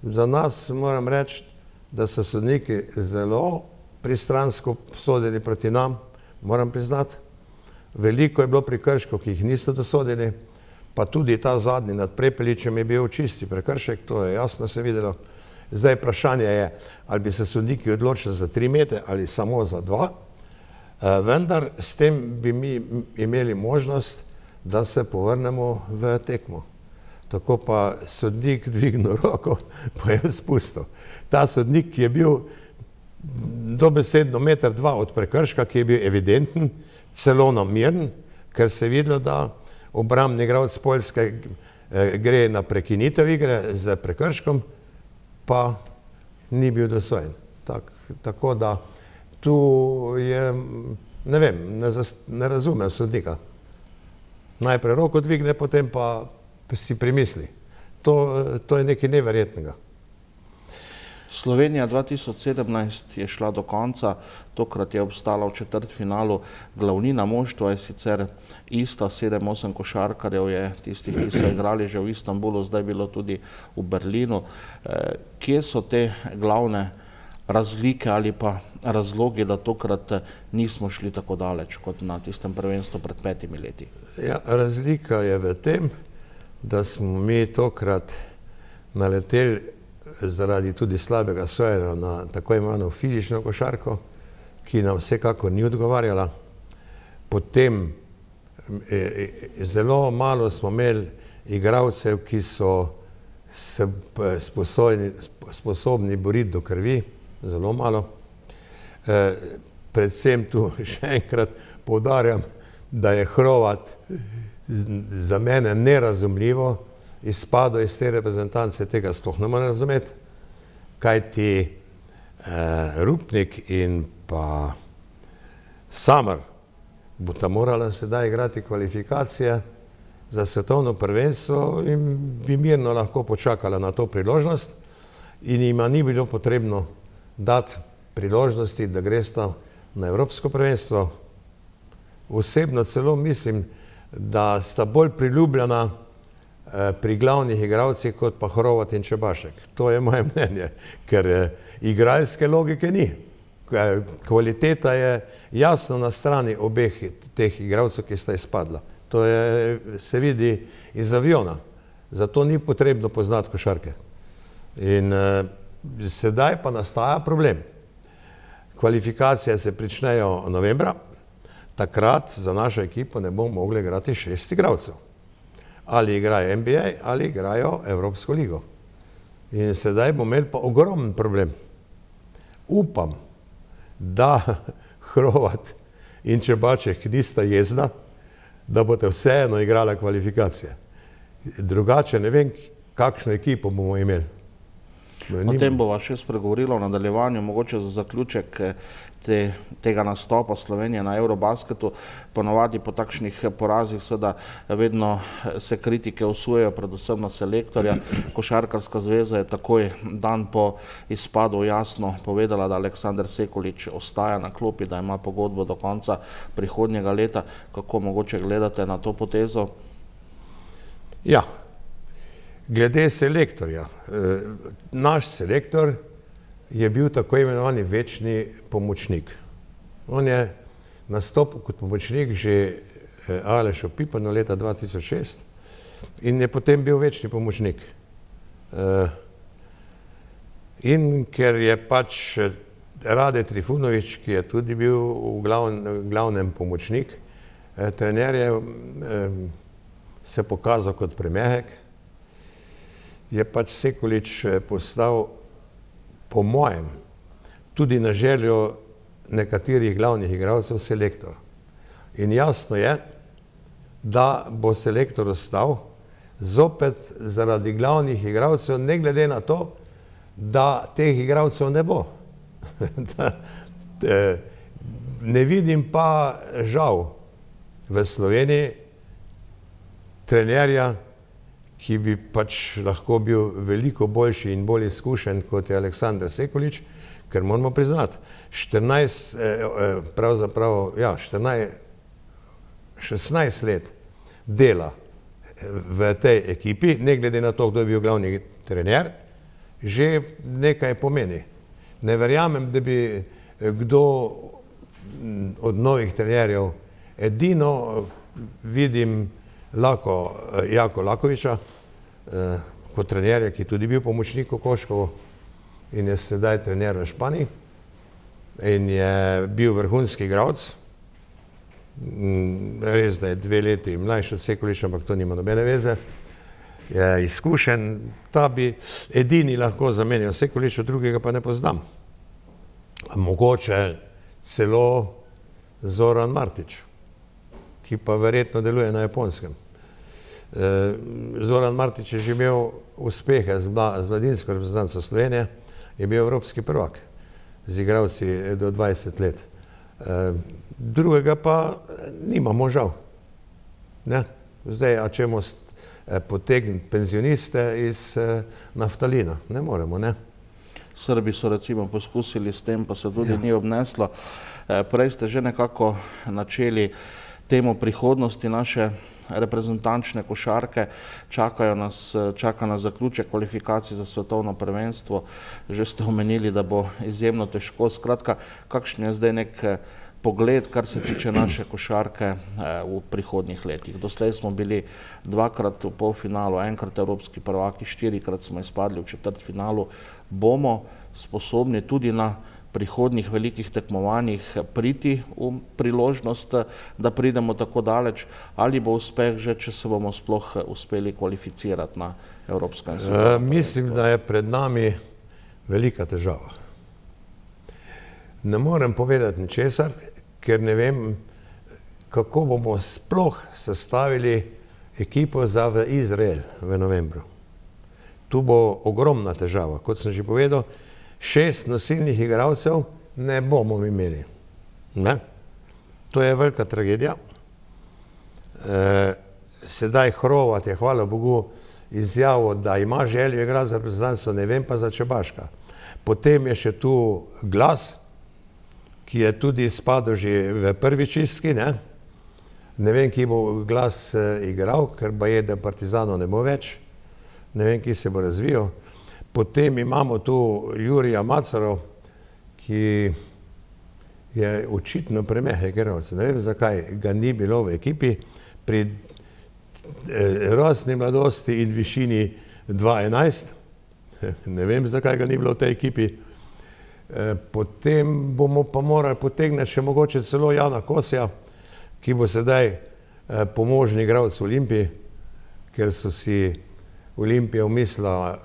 [SPEAKER 13] Za nas moram reči, da so sodniki zelo pristransko sodili proti nam, moram priznati. Veliko je bilo prekrškov, ki jih niso dosodili, pa tudi ta zadnji nad Prepeličem je bil čisti prekršek, to je jasno se videlo. Zdaj vprašanje je, ali bi se sodniki odločili za tri metre ali samo za dva, vendar s tem bi mi imeli možnost, da se povrnemo v tekmo. Tako pa sodnik dvignil roko, pa je spustil. Ta sodnik, ki je bil dobesedno meter dva od prekrška, ki je bil evidenten, celo namiren, ker se je videlo, da obrambni igralec Poljske gre na prekinitev igre z prekrškom, pa ni bil dosojen. Tak, tako da tu je, ne vem, ne, zas, ne razumem sodnika. Najprej roko dvigne, potem pa si primisli. To, to je nekaj neverjetnega.
[SPEAKER 1] Slovenija dva tisoč sedemnajst je šla do konca, tokrat je obstala v četrtfinalu. Glavnina moštva je sicer ista, sedem osem košarkarjev je tistih, ki so igrali že v Istanbulu, zdaj bilo tudi v Berlinu. Kje so te glavne razlike ali pa razlogi, da tokrat nismo šli tako daleč kot na tistem prvenstvu pred petimi leti?
[SPEAKER 13] Ja, razlika je v tem, da smo mi tokrat naleteli zaradi tudi slabega sojenja na tako imenovano fizično košarko, ki nam vsekakor ni odgovarjala. Potem e, zelo malo smo imeli igralcev, ki so se sposobni, sposobni boriti do krvi, zelo malo. E, predvsem tu še enkrat poudarjam, da je Hrovat za mene nerazumljivo izpadel iz te reprezentance, tega sploh ne morem razumeti, kajti eh, Rupnik in pa Samar bosta morala sedaj igrati kvalifikacije za svetovno prvenstvo in bi mirno lahko počakala na to priložnost in jima ni bilo potrebno dati priložnosti, da gresta na evropsko prvenstvo. Osebno celo mislim, da sta bolj priljubljena pri glavnih igralcih kot pa Hrovat in Čebašek. To je moje mnenje, ker igralske logike ni. Kvaliteta je jasno na strani obeh teh igralcev, ki sta izpadla. To je, se vidi iz aviona. Zato ni potrebno poznati košarke. In eh, sedaj pa nastaja problem. Kvalifikacije se pričnejo novembra, takrat za našo ekipo ne bomo mogli igrati šest igralcev. Ali igrajo N B A ali igrajo Evropsko ligo. In sedaj bomo imeli pa ogromen problem. Upam, da Hrovat in Čebaček nista jezna, da boste vseeno igrali kvalifikacije. Drugače ne vem, kakšno ekipo bomo imeli.
[SPEAKER 1] O tem bova še spregovorila v nadaljevanju, mogoče za zaključek te, tega nastopa Slovenije na Eurobasketu. Ponovadi po takšnih porazih seveda vedno se kritike usujejo, predvsem na selektorja. Košarkarska zveza je takoj dan po izpadu jasno povedala, da Aleksander Sekulič ostaja na klopi, da ima pogodbo do konca prihodnjega leta. Kako mogoče gledate na to potezo?
[SPEAKER 13] Ja. Glede selektorja, naš selektor je bil tako imenovani večni pomočnik. On je nastopil kot pomočnik že Alešu Pipanu leta dva tisoč šest in je potem bil večni pomočnik. In ker je pač Rade Trifunovič, ki je tudi bil v glavnem, glavnem pomočnik, trener je se pokazal kot premehek, je pač Sekulič postal, po mojem, tudi na željo nekaterih glavnih igralcev, selektor. In jasno je, da bo selektor ostal zopet zaradi glavnih igralcev, ne glede na to, da teh igralcev ne bo. Ne vidim pa žal v Sloveniji trenerja, ki bi pač lahko bil veliko boljši in bolj izkušen kot je Aleksander Sekulič, ker moramo priznati, štirinajst, pravzaprav, ja, štirinajst, šestnajst let dela v tej ekipi, ne glede na to, kdo je bil glavni trener, že nekaj pomeni. Ne verjamem, da bi kdo od novih trenerjev, edino vidim Lako, Jako Lakoviča, eh, kot trenerja, ki je tudi bil pomočnik v Koškovu in je sedaj trener v Španiji in je bil vrhunski igralec. Res, da je dve leti mlajši od Sekuliča, ampak to nima nobene veze. Je izkušen, ta bi edini lahko zamenjal Sekuliča, drugega pa ne poznam. Mogoče celo Zoran Martič, ki pa verjetno deluje na Japonskem. Zoran Martič je že imel uspehe z mladinsko reprezentanco Slovenije, je bil evropski prvak z igralci do dvajset let. Drugega pa nimamo žal. Ne? Zdaj, a čemo potegniti penzioniste iz naftalina? Ne moremo, ne?
[SPEAKER 1] Srbi so recimo poskusili s tem, pa se tudi ni obneslo. Prej ste že nekako načeli temu prihodnosti naše reprezentančne košarke, čakajo nas, čaka nas zaključek kvalifikacij za svetovno prvenstvo. Že ste omenili, da bo izjemno težko. Skratka, kakšen je zdaj nek pogled, kar se tiče naše košarke v prihodnjih letih? Doslej smo bili dvakrat v polfinalu, enkrat evropski prvaki, štirikrat smo izpadli v četrtfinalu. Bomo sposobni tudi na prihodnjih velikih tekmovanjih priti v priložnost, da pridemo tako daleč, ali bo uspeh že, če se bomo sploh uspeli kvalificirati na evropskem svetovnem prvenstvu?
[SPEAKER 13] Mislim, da je pred nami velika težava. Ne morem povedati ničesar, ker ne vem, kako bomo sploh sestavili ekipo za v Izrael v novembru. Tu bo ogromna težava. Kot sem že povedal, šest nosilnih igralcev ne bomo imeli. Ne? To je velika tragedija. E, sedaj Hrovat je, hvala Bogu, izjavil, da ima željo igrati za reprezentanco, ne vem pa za Čebaška. Potem je še tu Glas, ki je tudi spadal že v prvi čistki, ne? Ne vem, ki bo Glas igral, ker pa je, da Partizanov ne bo več. Ne vem, ki se bo razvijal. Potem imamo tu Jurija Macarov, ki je očitno premehek igralec. Ne vem, zakaj ga ni bilo v ekipi. Pri rosni mladosti in višini dva enajst. Ne vem, zakaj ga ni bilo v tej ekipi. Potem bomo pa morali potegniti še mogoče celo Jana Kosja, ki bo sedaj pomožni igralec v Olimpiji, ker so si Olimpija umislila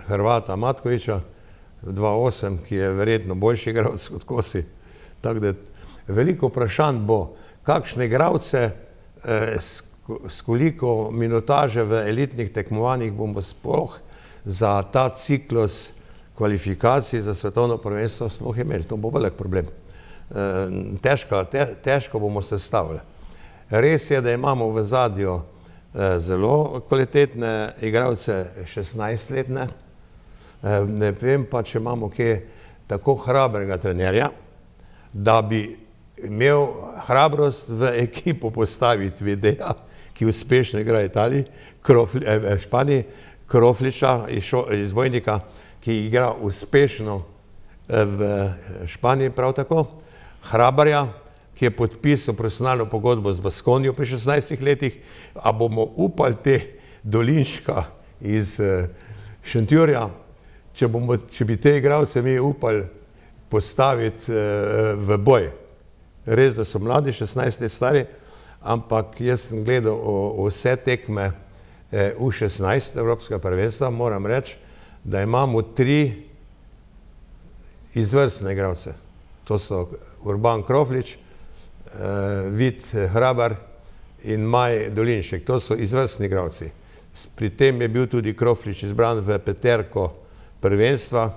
[SPEAKER 13] Hrvata Matkovića dva osem, ki je verjetno boljši igralec kot Kosi. Tako da veliko vprašanj bo, kakšne igralce s koliko minutaže v elitnih tekmovanjih bomo sploh za ta ciklus kvalifikacij za svetovno prvenstvo sploh imeli. To bo velik problem. Težko, te, težko bomo se stavili. Res je, da imamo v zadju zelo kvalitetne igralce šestnajstletne. Ne vem pa, če imamo kje tako hrabrega trenerja, da bi imel hrabrost v ekipo postaviti Videa, ki uspešno igra v Italiji, Krofli, v Španiji, Krofliča iz, iz Vojnika, ki igra uspešno v Španiji prav tako, Hrabarja, ki je podpisal profesionalno pogodbo z Baskonijo pri šestnajstih letih, a bomo upali te Dolinška iz Šentjurja, če, bomo, če bi te igralce mi upali postaviti v boj. Res, da so mladi, šestnajst let stari, ampak jaz sem gledal o, o vse tekme U šestnajst Evropskega prvenstva, moram reči, da imamo tri izvrstne igralce. To so Urban Kroflič, Vid Hrabar in Maj Dolinšek. To so izvrstni igralci. Pri tem je bil tudi Kroflič izbran v peterko prvenstva,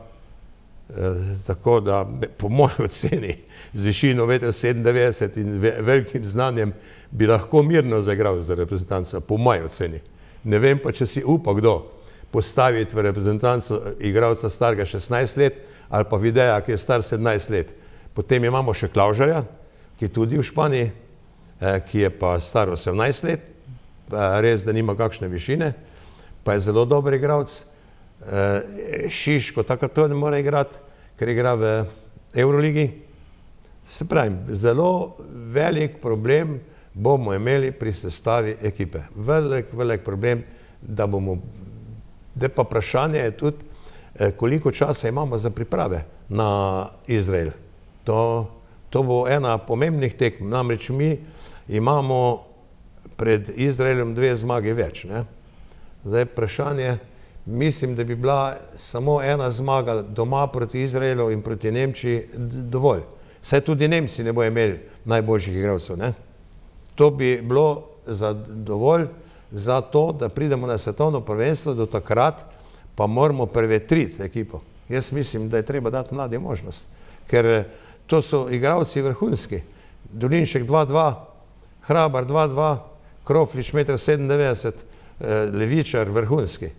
[SPEAKER 13] tako da po moji oceni z višino meter sedemindevetdeset in velikim znanjem bi lahko mirno zaigral za reprezentanco, po moji oceni. Ne vem pa, če si upa kdo postaviti v reprezentanco igralca starega šestnajst let ali pa Videa, ki je star sedemnajst let. Potem imamo še Klavžarja, ki je tudi v Španiji, ki je pa star osemnajst let, res, da nima kakšne višine, pa je zelo dober igralec. Šiško tako to ne mora igrati, ker igra v Euroligi. Se pravim, zelo velik problem bomo imeli pri sestavi ekipe. Velik, velik problem, da bomo, da pa vprašanje je tudi, koliko časa imamo za priprave na Izrael. To, to bo ena pomembnih tekm. Namreč mi imamo pred Izraelom dve zmagi več. Ne? Zdaj vprašanje, mislim, da bi bila samo ena zmaga doma proti Izraelu in proti Nemčiji dovolj. Saj tudi Nemci ne bojo imeli najboljših igralcev. Ne? To bi bilo za dovolj za to, da pridemo na svetovno prvenstvo, do takrat pa moramo prevetriti ekipo. Jaz mislim, da je treba dati mladi možnost, ker to so igralci vrhunski. Dolinšek dva dva, Hrabar dva dva, Kroflič meter sedemindevetdeset, Levičar vrhunski.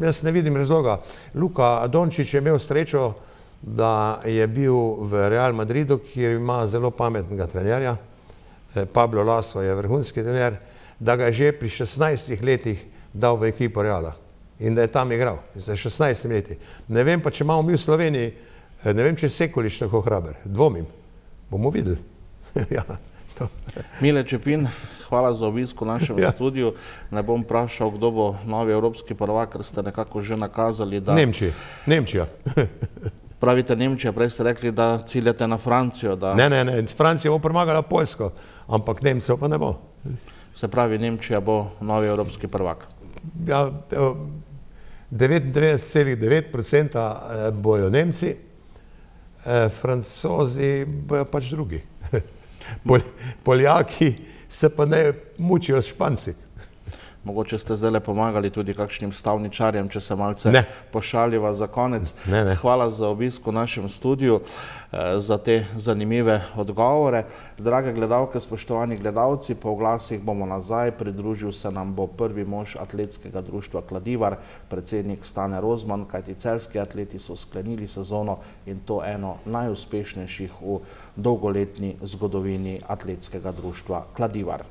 [SPEAKER 13] Jaz ne vidim razloga. Luka Dončić je imel srečo, da je bil v Real Madridu, kjer ima zelo pametnega trenerja. Pablo Laso je vrhunski trener, da ga je že pri šestnajstih letih dal v ekipo Reala in da je tam igral za šestnajstimi leti. Ne vem pa, če imamo mi v Sloveniji, ne vem, če je Sekulič tako hraber. Dvomim. Bomo videli. Ja, to.
[SPEAKER 1] Mile Čepin, hvala za obisk v našem ja. studiu. Ne bom vprašal, kdo bo novi evropski prvak, ker ste nekako že nakazali, da...
[SPEAKER 13] Nemčija. Nemčija.
[SPEAKER 1] Pravite Nemčija, prej ste rekli, da ciljate na Francijo. Da...
[SPEAKER 13] Ne, ne, ne. Francija bo premagala Poljsko, ampak Nemcev pa ne bo.
[SPEAKER 1] Se pravi, Nemčija bo novi evropski prvak.
[SPEAKER 13] Ja, devetindevetdeset celih devet procenta bojo Nemci, Francozi bojo pač drugi. Pol, Poljaki se pa ne mučijo s Španci.
[SPEAKER 1] Mogoče ste zdaj pomagali tudi kakšnim stavničarjem, če se malce
[SPEAKER 13] Ne.
[SPEAKER 1] pošaliva za konec.
[SPEAKER 13] Ne, ne.
[SPEAKER 1] Hvala za obisk v našem studiu, za te zanimive odgovore. Drage gledalke, spoštovani gledalci, po oglasih bomo nazaj. Pridružil se nam bo prvi mož atletskega društva Kladivar, predsednik Stane Rozman, kajti celjski atleti so sklenili sezono in to eno najuspešnejših v dolgoletni zgodovini atletskega društva Kladivar.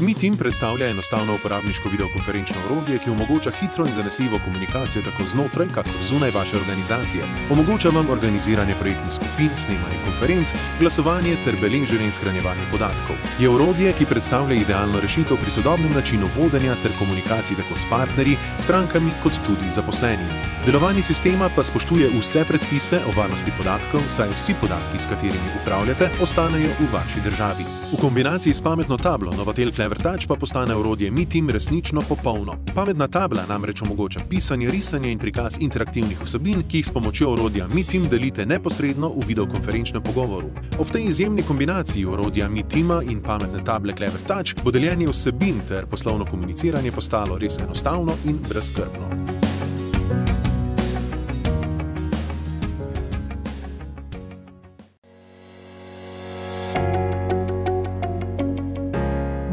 [SPEAKER 9] MeTeam predstavlja enostavno uporabniško videokonferenčno orodje, ki omogoča hitro in zanesljivo komunikacijo tako znotraj, kakor zunaj vaše organizacije. Omogoča vam organiziranje projektnih skupin, snemanje konferenc, glasovanje ter beleženje in shranjevanje podatkov. Je orodje, ki predstavlja idealno rešitev pri sodobnem načinu vodenja ter komunikaciji tako s partnerji, strankami kot tudi zaposlenimi. Delovanje sistema pa spoštuje vse predpise o varnosti podatkov, saj vsi podatki, s katerimi upravljate, ostanejo v vaši državi. V kombinaciji s pametno tablo Novatel Clever Touch pa postane orodje MeTeam resnično popolno. Pametna tabla namreč omogoča pisanje, risanje in prikaz interaktivnih vsebin, ki jih s pomočjo orodja MeTeam delite neposredno v videokonferenčnem pogovoru. Ob tej izjemni kombinaciji orodja MeTeama in pametne table Clever Touch bo deljenje vsebin ter poslovno komuniciranje postalo res enostavno in brezskrbno.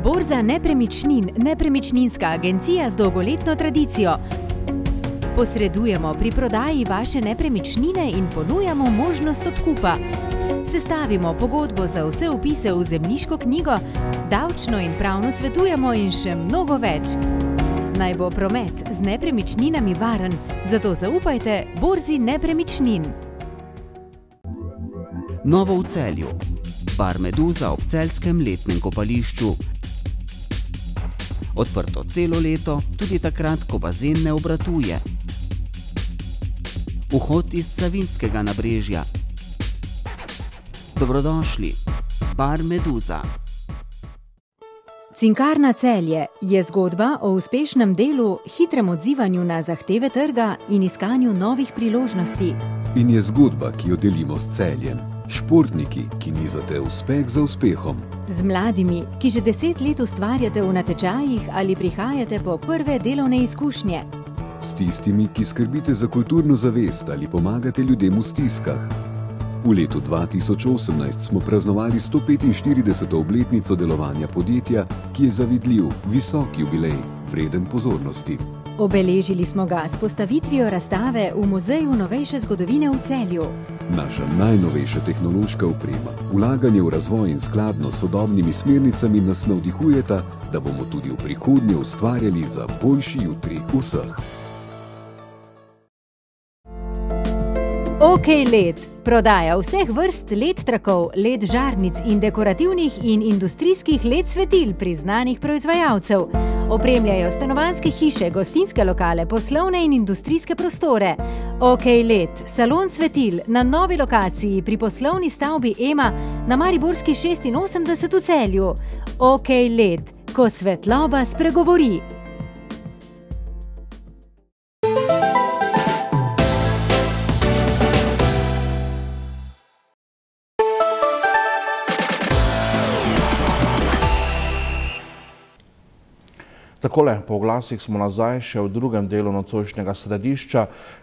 [SPEAKER 10] Borza nepremičnin, nepremičninska agencija z dolgoletno tradicijo. Posredujemo pri prodaji vaše nepremičnine in ponujamo možnost odkupa. Sestavimo pogodbo za vse vpise v zemljiško knjigo, davčno in pravno svetujemo in še mnogo več. Naj bo promet z nepremičninami varen, zato zaupajte Borzi nepremičnin.
[SPEAKER 11] Novo v Celju. Bar Meduza ob celjskem letnem kopališču. Odprto celo leto, tudi takrat, ko bazen ne obratuje. Vhod iz Savinjskega nabrežja. Dobrodošli, Bar Meduza.
[SPEAKER 10] Cinkarna Celje je zgodba o uspešnem delu, hitrem odzivanju na zahteve trga in iskanju novih priložnosti.
[SPEAKER 12] In je zgodba, ki jo delimo s Celjem. Športniki, ki nizate uspeh za uspehom.
[SPEAKER 10] Z mladimi, ki že deset let ustvarjate v natečajih ali prihajate po prve delovne izkušnje.
[SPEAKER 12] S tistimi, ki skrbite za kulturno zavest ali pomagate ljudem v stiskah. V letu dva tisoč osemnajst smo praznovali sto petinštirideseto obletnico delovanja podjetja, ki je zavidljiv, visok jubilej, vreden pozornosti.
[SPEAKER 10] Obeležili smo ga s postavitvijo razstave v Muzeju novejše zgodovine v Celju.
[SPEAKER 12] Naša najnovejša tehnološka oprema, vlaganje v razvoj in skladno s sodobnimi smernicami nas navdihujeta, da bomo tudi v prihodnje ustvarjali za boljši jutri vseh.
[SPEAKER 10] OK Led prodaja vseh vrst led trakov, led žarnic in dekorativnih in industrijskih led svetil priznanih proizvajalcev. Opremljajo stanovanjske hiše, gostinske lokale, poslovne in industrijske prostore. OK Led, salon svetil na novi lokaciji pri poslovni stavbi Ema na Mariborski šestinosemdeset v Celju. OK Led, ko svetloba spregovori.
[SPEAKER 1] Takole, po oglasih smo nazaj še v drugem delu nocojšnjega središča,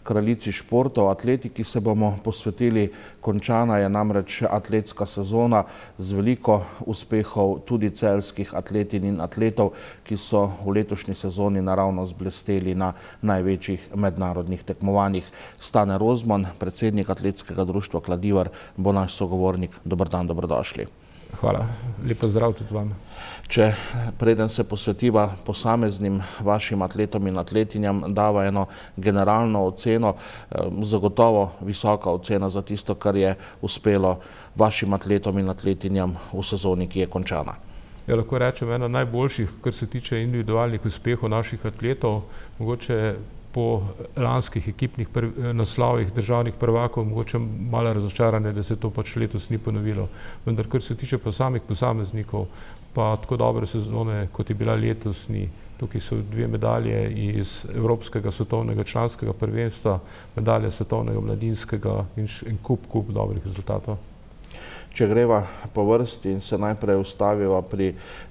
[SPEAKER 1] kraljici športov, atletiki se bomo posvetili. Končana je namreč atletska sezona z veliko uspehov tudi celjskih atletin in atletov, ki so v letošnji sezoni naravno zblesteli na največjih mednarodnih tekmovanjih. Stane Rozman, predsednik atletskega društva Kladivar, bo naš sogovornik. Dober dan, dobrodošli.
[SPEAKER 14] Hvala, lep pozdrav tudi vam.
[SPEAKER 1] Če preden se posvetiva posameznim vašim atletom in atletinjam, dava eno generalno oceno, zagotovo visoka ocena za tisto, kar je uspelo vašim atletom in atletinjam v sezoni, ki je končana.
[SPEAKER 14] Ja, lahko rečem, ena najboljših, kar se tiče individualnih uspehov naših atletov. Mogoče po lanskih ekipnih naslovih državnih prvakov mogoče malo razočarane, da se to pač letos ni ponovilo. Vendar, kar se tiče pa samih posameznikov, pa tako dobre sezone, kot je bila letos, ni. Tukaj so dve medalje iz Evropskega svetovnega članskega prvenstva, medalje svetovnega mladinskega in kup, kup dobrih rezultatov.
[SPEAKER 1] Če greva po vrsti in se najprej ustaviva pri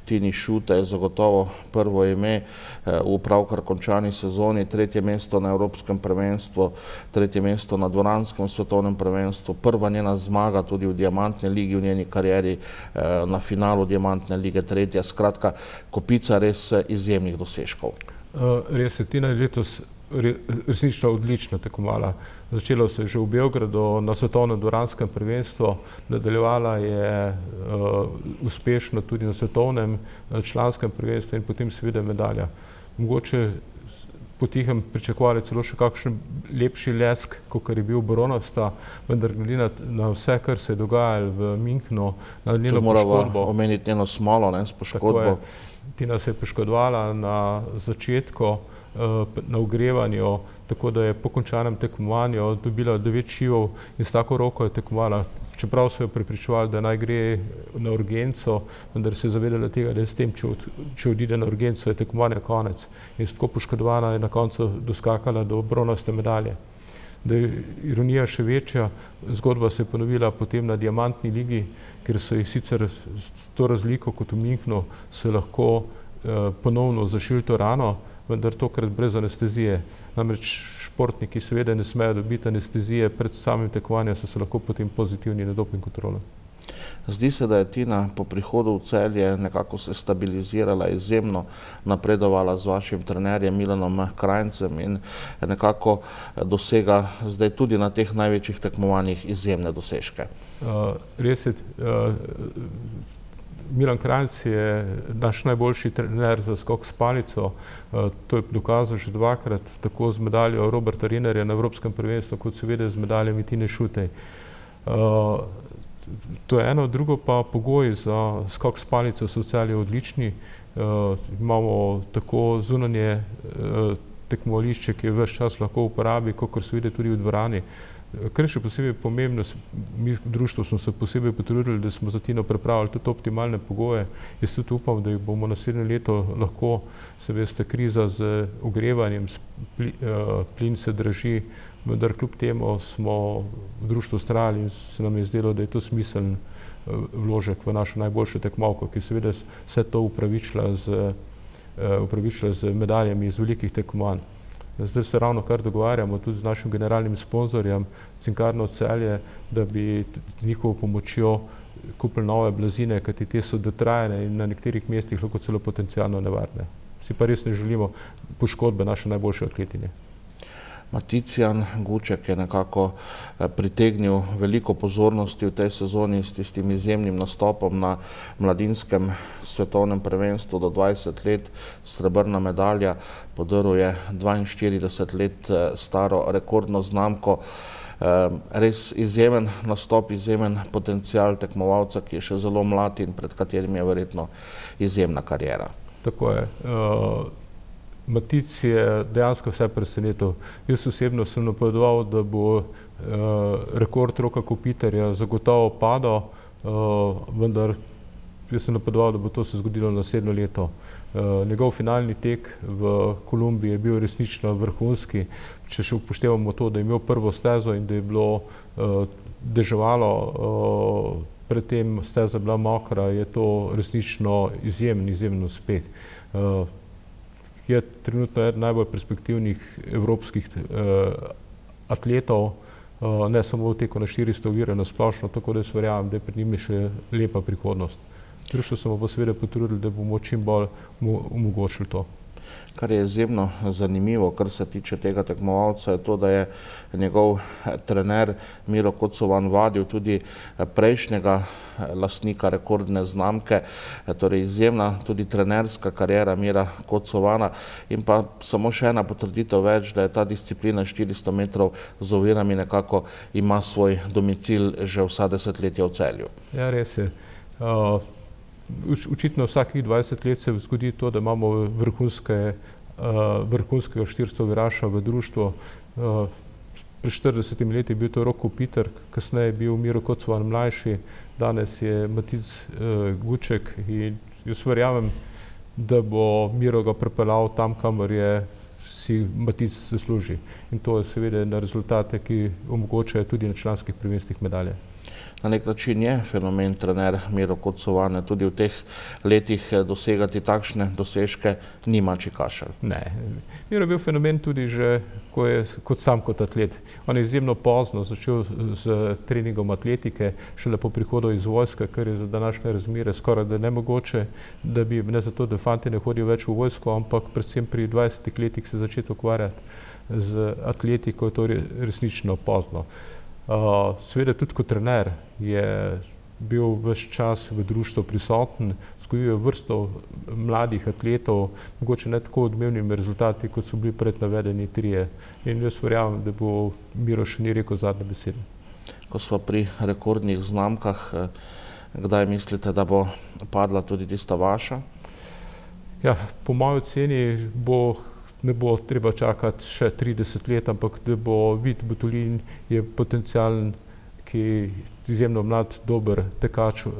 [SPEAKER 1] Tini Šutej, je zagotovo prvo ime v pravkar končani sezoni, tretje mesto na Evropskem prvenstvu, tretje mesto na dvoranskem svetovnem prvenstvu, prva njena zmaga tudi v diamantni ligi v njeni karieri, na finalu diamantne lige tretja, skratka kopica res izjemnih dosežkov.
[SPEAKER 14] Res je, Tina je letos resnično odlično tekmovala. Začelo se je že v Beogradu na svetovnem dvoranskem prvenstvu, nadaljevala je uspešno tudi na svetovnem članskem prvenstvu in potem seveda medalja. Mogoče potihem pričakovali celo še kakšen lepši lesk, kakor je bil bronasta, vendar glede na vse, kar se je dogajalo v Münchnu, na njeno poškodbo.
[SPEAKER 1] Tu moramo omeniti njeno smolo s poškodbo.
[SPEAKER 14] Tina se je poškodovala na začetku, na ogrevanju, tako da je po končanem tekmovanju dobila devet šivov in s tako roko je tekmovala. Čeprav so jo prepričevali, da naj gre na urgenco, vendar se je zavedala tega, da je s tem, če odide na urgenco, je tekmovanje konec. In tako poškodovana je na koncu doskakala do bronaste medalje. Da je ironija še večja, zgodba se je ponovila potem na diamantni ligi, ker so jih sicer s to razliko kot v Münchnu se lahko ponovno zašili to rano, vendar tokrat brez anestezije. Namreč športniki seveda ne smejo dobiti anestezije pred samim tekmovanjem, so se lahko potem pozitivni na doping kontrolo.
[SPEAKER 1] Zdi se, da je Tina po prihodu v Celje nekako se stabilizirala, izjemno napredovala z vašim trenerjem Milanom Krajncem in nekako dosega zdaj tudi na teh največjih tekmovanjih izjemne dosežke.
[SPEAKER 14] Res je, Milan Krajnc je naš najboljši trener za skok s palico. To je dokazal že dvakrat, tako z medaljo Roberta Rinerja na Evropskem prvenstvu, kot seveda z medaljami Tine Šutej. To je eno, drugo pa pogoji za skok s palico so v Celju odlični. Imamo tako zunanje tekmovališče, ki je ves čas lahko v uporabi, kakor se vidi tudi v dvorani. Kar je še posebej pomembno, mi v društvu smo se posebej potrudili, da smo za Tino pripravili tudi optimalne pogoje. Jaz tudi upam, da jih bomo naslednje leto lahko, se veste, kriza z ogrevanjem, plin se draži, vendar kljub temu smo v društvu vztrajali in se nam je zdelo, da je to smiseln vložek v našo najboljšo tekmovko, ki seveda vse to upravičila z medaljami iz velikih tekmovanj. Zdaj se ravno kar dogovarjamo tudi z našim generalnim sponzorjem Cinkarno Celje, da bi njihovo pomočjo kupili nove blazine, kajti te so dotrajane in na nekaterih mestih lahko celo potencialno nevarne. Si pa res ne želimo poškodbe naše najboljše atletinje.
[SPEAKER 1] Maticijan Guček je nekako pritegnil veliko pozornosti v tej sezoni s tistim izjemnim nastopom na mladinskem svetovnem prvenstvu do dvajset let, srebrna medalja, podaril je dvainštirideset let staro rekordno znamko. Res izjemen nastop, izjemen potencial tekmovalca, ki je še zelo mlad in pred katerim je verjetno izjemna kariera.
[SPEAKER 14] Tako je. Matic je dejansko vse presenetil. Jaz osebno sem napovedoval, da bo rekord Roka Kopitarja zagotovo padal, vendar jaz sem napovedoval, da bo to se zgodilo naslednje leto. Njegov finalni tek v Kolumbiji je bil resnično vrhunski. Če še upoštevamo to, da je imel prvo stezo in da je bilo deževalo, predtem steza bila mokra, je to resnično izjemen, izjemen uspeh. Je trenutno eden najbolj perspektivnih evropskih atletov, ne samo v teku na štiristo ovire na splošno, tako da jaz verjamem, da je pred njimi še lepa prihodnost. Društvo smo pa seveda potrudili, da bomo čim bolj omogočili to.
[SPEAKER 1] Kar je izjemno zanimivo, kar se tiče tega tekmovalca, je to, da je njegov trener Miro Kocovan vadil tudi prejšnjega lastnika rekordne znamke, torej izjemna tudi trenerska kariera Mira Kocovana in pa samo še ena potrditev več, da je ta disciplina štiristo metrov z ovirami nekako ima svoj domicil že vsa desetletja v Celju.
[SPEAKER 14] Ja, res je. Očitno vsakih dvajset let se zgodi to, da imamo vrhunske vrhunskega štirstoviraša v društvu. Pred štiridesetimi leti je bil to Roko Peter, kasneje je bil Miro Kocvan mlajši, danes je Matic Guček in jaz verjamem, da bo Miro ga pripeljal tam, kamor je si Matic zasluži. In to je seveda na rezultate, ki omogočajo tudi na članskih prvenstvih medalje.
[SPEAKER 1] Na nek način je fenomen trener Miro Kocovan, tudi v teh letih dosegati takšne dosežke ni mačji kašelj.
[SPEAKER 14] Ne, Miro je bil fenomen tudi že ko je, kot sam kot atlet. On je izjemno pozno začel z treningom atletike, šele po prihodu iz vojske, kar je za današnje razmere skoraj da nemogoče, da bi, ne zato, da fanti ne hodijo več v vojsko, ampak predvsem pri dvajsetih letih se začeti ukvarjati z atletiko, to je resnično pozno. Uh, seveda tudi kot trener je bil ves čas v društvu prisoten, vzgojil je vrsto mladih atletov, mogoče ne tako odmevnimi rezultati, kot so bili pred navedeni trije. In jaz verjamem, da bo Miro še ni rekel zadnje besede.
[SPEAKER 1] Ko smo pri rekordnih znamkah, kdaj mislite, da bo padla tudi tista vaša?
[SPEAKER 14] Ja, po moji oceni bo ne bo treba čakati še trideset let, ampak da bo Vid Butolin je potencialen, ki je izjemno mlad, dober tekač uh,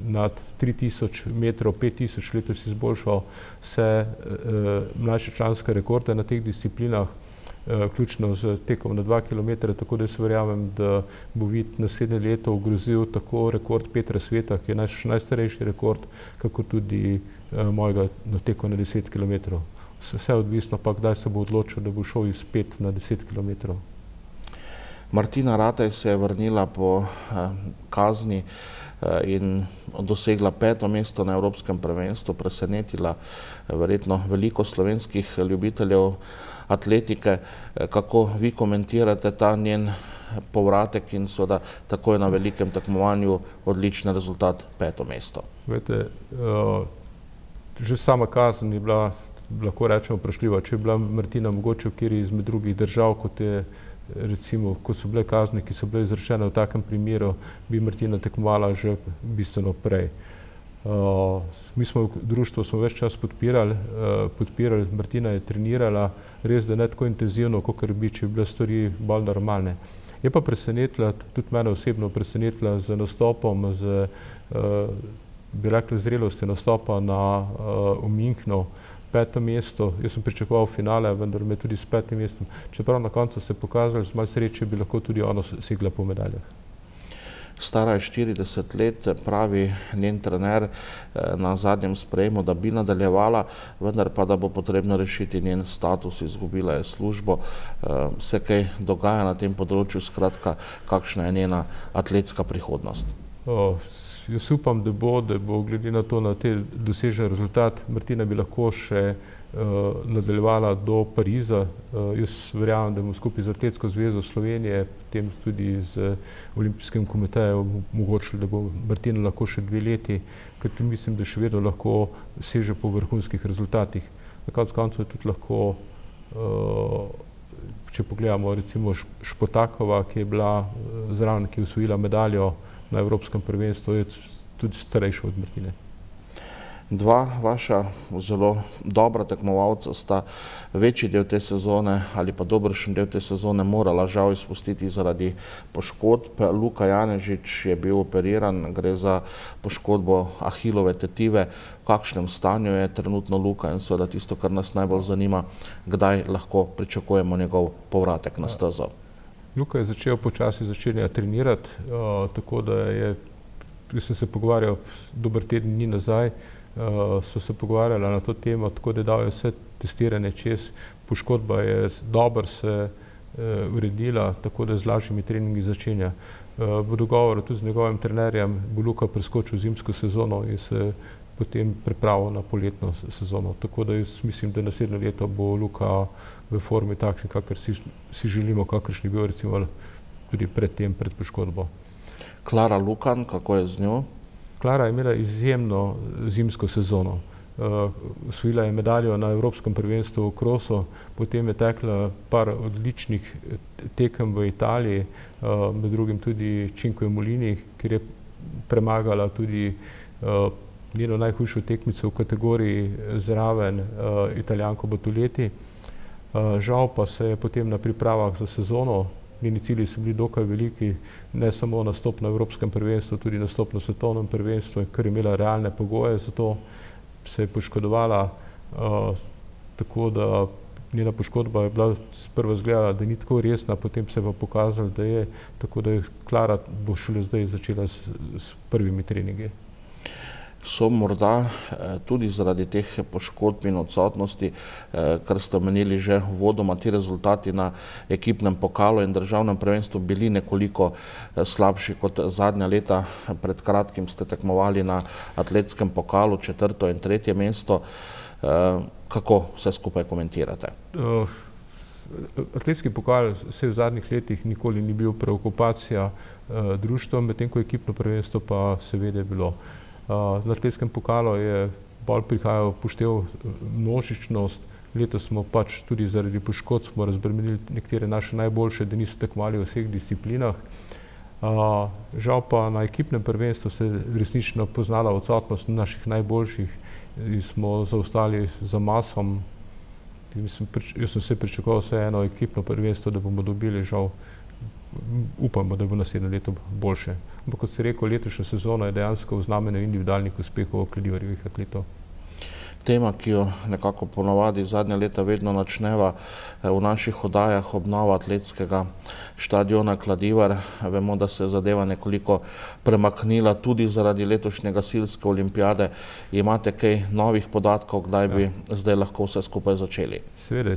[SPEAKER 14] nad tri tisoč metrov, pet tisoč letos izboljšal vse uh, mlajše članske rekorde na teh disciplinah, uh, ključno z tekom na dva kilometra, tako da jaz verjamem, da bo Vid naslednje leto ogrozil tako rekord Petra Sveta, ki je naš najstarejši rekord, kako tudi uh, mojega na teku na deset kilometrov. Vse odvisno pa, kdaj se bo odločil, da bo šel iz pet na deset kilometrov.
[SPEAKER 1] Martina Ratej se je vrnila po eh, kazni eh, in dosegla peto mesto na Evropskem prvenstvu, presenetila eh, verjetno veliko slovenskih ljubiteljev atletike. Eh, kako vi komentirate ta njen povratek in seveda takoj na velikem tekmovanju odličen rezultat, peto mesto?
[SPEAKER 14] Vete, uh, že sama kazen je bila, lahko rečemo, vprašljiva. Če je bila Martina mogoče v kateri izmed drugih držav, kot je recimo, ko so bile kazni, ki so bile izrečene v takem primeru, bi Martina tekmovala že bistveno prej. Uh, mi smo v društvu smo več čas podpirali, uh, podpirali, Martina je trenirala, res da ne tako intenzivno, kakor bi, če bi bile stvari bolj normalne. Je pa presenetila, tudi mene osebno presenetila z nastopom, z, uh, bi rekli, zrelosti nastopa na, uh, v Münchnu, peto mesto. Jaz sem pričakoval finale, vendar me tudi s petim mestom. Čeprav na koncu se je pokazalo, z malo sreče bi lahko tudi ono segla po medaljah.
[SPEAKER 1] Stara je štirideset let, pravi njen trener na zadnjem sprejemu, da bi nadaljevala, vendar pa, da bo potrebno rešiti njen status, izgubila je službo. Se kaj dogaja na tem področju, skratka, kakšna je njena atletska prihodnost?
[SPEAKER 14] O, jaz upam, da bo, da bo glede na to, na te dosežen rezultat, Martina bi lahko še uh, nadaljevala do Pariza. Uh, jaz verjamem, da bomo skupaj z Atletsko zvezo Slovenije, potem tudi z Olimpijskim komitejem omogočili, da bo Martina lahko še dve leti, ker mislim, da še vedno lahko seže po vrhunskih rezultatih. Na koncu koncev je tudi lahko, uh, če pogledamo recimo Špotakova, ki je bila zraven, ki je osvojila medaljo na Evropskem prvenstvu, je tudi starejša od Martine.
[SPEAKER 1] Dva vaša zelo dobra tekmovalca sta večji del te sezone ali pa dobršen del te sezone morala žal izpustiti zaradi poškodb. Luka Janežič je bil operiran, gre za poškodbo ahilove tetive. V kakšnem stanju je trenutno Luka in seveda tisto, kar nas najbolj zanima, kdaj lahko pričakujemo njegov povratek na stezo?
[SPEAKER 14] Luka je začel počasi začenjati trenirati, uh, tako da je, jaz sem se pogovarjal dober teden dni nazaj, uh, so se pogovarjali na to temo, tako da je dal vse testiranje čez, poškodba je dobro se uh, uredila, tako da z lažjimi treningi začenja. Uh, v dogovoru tudi z njegovim trenerjem bo Luka preskočil zimsko sezono in se potem pripravil na poletno sezono. Tako da jaz mislim, da naslednje leto bo Luka v formi takšni, kakor si, si želimo, kakršni bil recimo tudi pred tem, pred poškodbo.
[SPEAKER 1] Klara Lukan, kako je z njo?
[SPEAKER 14] Klara je imela izjemno zimsko sezono. Osvojila uh, je medaljo na Evropskem prvenstvu v krosu, potem je tekla par odličnih tekem v Italiji, uh, med drugim tudi Cinque Mulini, kjer je premagala tudi uh, njeno najhujšo tekmico v kategoriji zraven Italijanko Batuleti. Žal pa se je potem na pripravah za sezono, njeni cilji so bili dokaj veliki, ne samo nastop na Evropskem prvenstvu, tudi nastop na svetovnem prvenstvu, ker je imela realne pogoje za to, se je poškodovala, tako da njena poškodba je bila sprva izgledala, da ni tako resna, potem se je pa pokazalo, da je, tako da je Klara bo šele zdaj začela s, s prvimi treningi.
[SPEAKER 1] So morda tudi zaradi teh poškodb in odsotnosti, kar ste omenili že uvodoma, ti rezultati na ekipnem pokalu in državnem prvenstvu bili nekoliko slabši kot zadnja leta. Pred kratkim ste tekmovali na atletskem pokalu, četrto in tretje mesto. Kako vse skupaj komentirate?
[SPEAKER 14] Atletski pokal se v zadnjih letih nikoli ni bil preokupacija društva, medtem ko ekipno prvenstvo pa seveda je bilo. Na atletskem pokalu je bolj prihajal poštev množičnost, letos smo pač tudi zaradi poškodb smo razbremenili nekatere naše najboljše, da niso tekmovali v vseh disciplinah. Žal pa na ekipnem prvenstvu se je resnično poznala odsotnost naših najboljših in smo zaostali za masom. Jaz sem se pričakoval vse eno ekipno prvenstvo, da bomo dobili, žal upamo, da bo naslednje leto boljše. Ampak kot se rekel, letošnja sezona je dejansko v znamenju individualnih uspehov Kladivarjevih atletov.
[SPEAKER 1] Tema, ki jo nekako ponavadi zadnja leta vedno načneva v naših oddajah, obnova atletskega štadiona Kladivar. Vemo, da se je zadeva nekoliko premaknila tudi zaradi letošnje gasilske olimpijade. Imate kaj novih podatkov, kdaj bi ja. zdaj lahko vse skupaj začeli?
[SPEAKER 14] Seveda,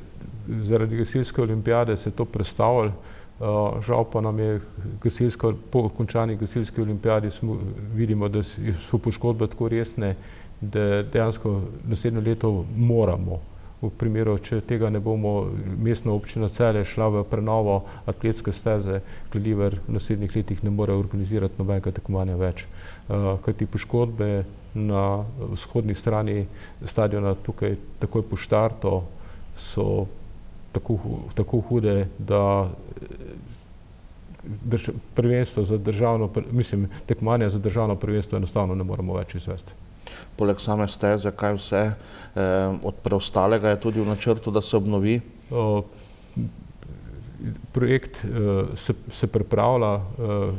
[SPEAKER 14] zaradi gasilske olimpijade se je to prestavilo. Uh, žal pa nam je gasilska, po končani gasilski olimpijadi smo, vidimo, da so poškodbe tako resne, da dejansko naslednje leto moramo, v primeru, če tega ne bomo, mestna občina Celje šla v prenovo atletske steze, Kladivar v naslednjih letih ne more organizirati nobenega tekmovanja več. Uh, kajti poškodbe na vzhodni strani stadiona tukaj takoj po štartu so Tako, tako hude, da drž, prvenstvo za državno, mislim, tekmovanje za državno prvenstvo enostavno ne moremo več izvesti.
[SPEAKER 1] Poleg same steze, kaj vse eh, od preostalega je tudi v načrtu, da se obnovi?
[SPEAKER 14] O, projekt eh, se, se pripravlja, eh,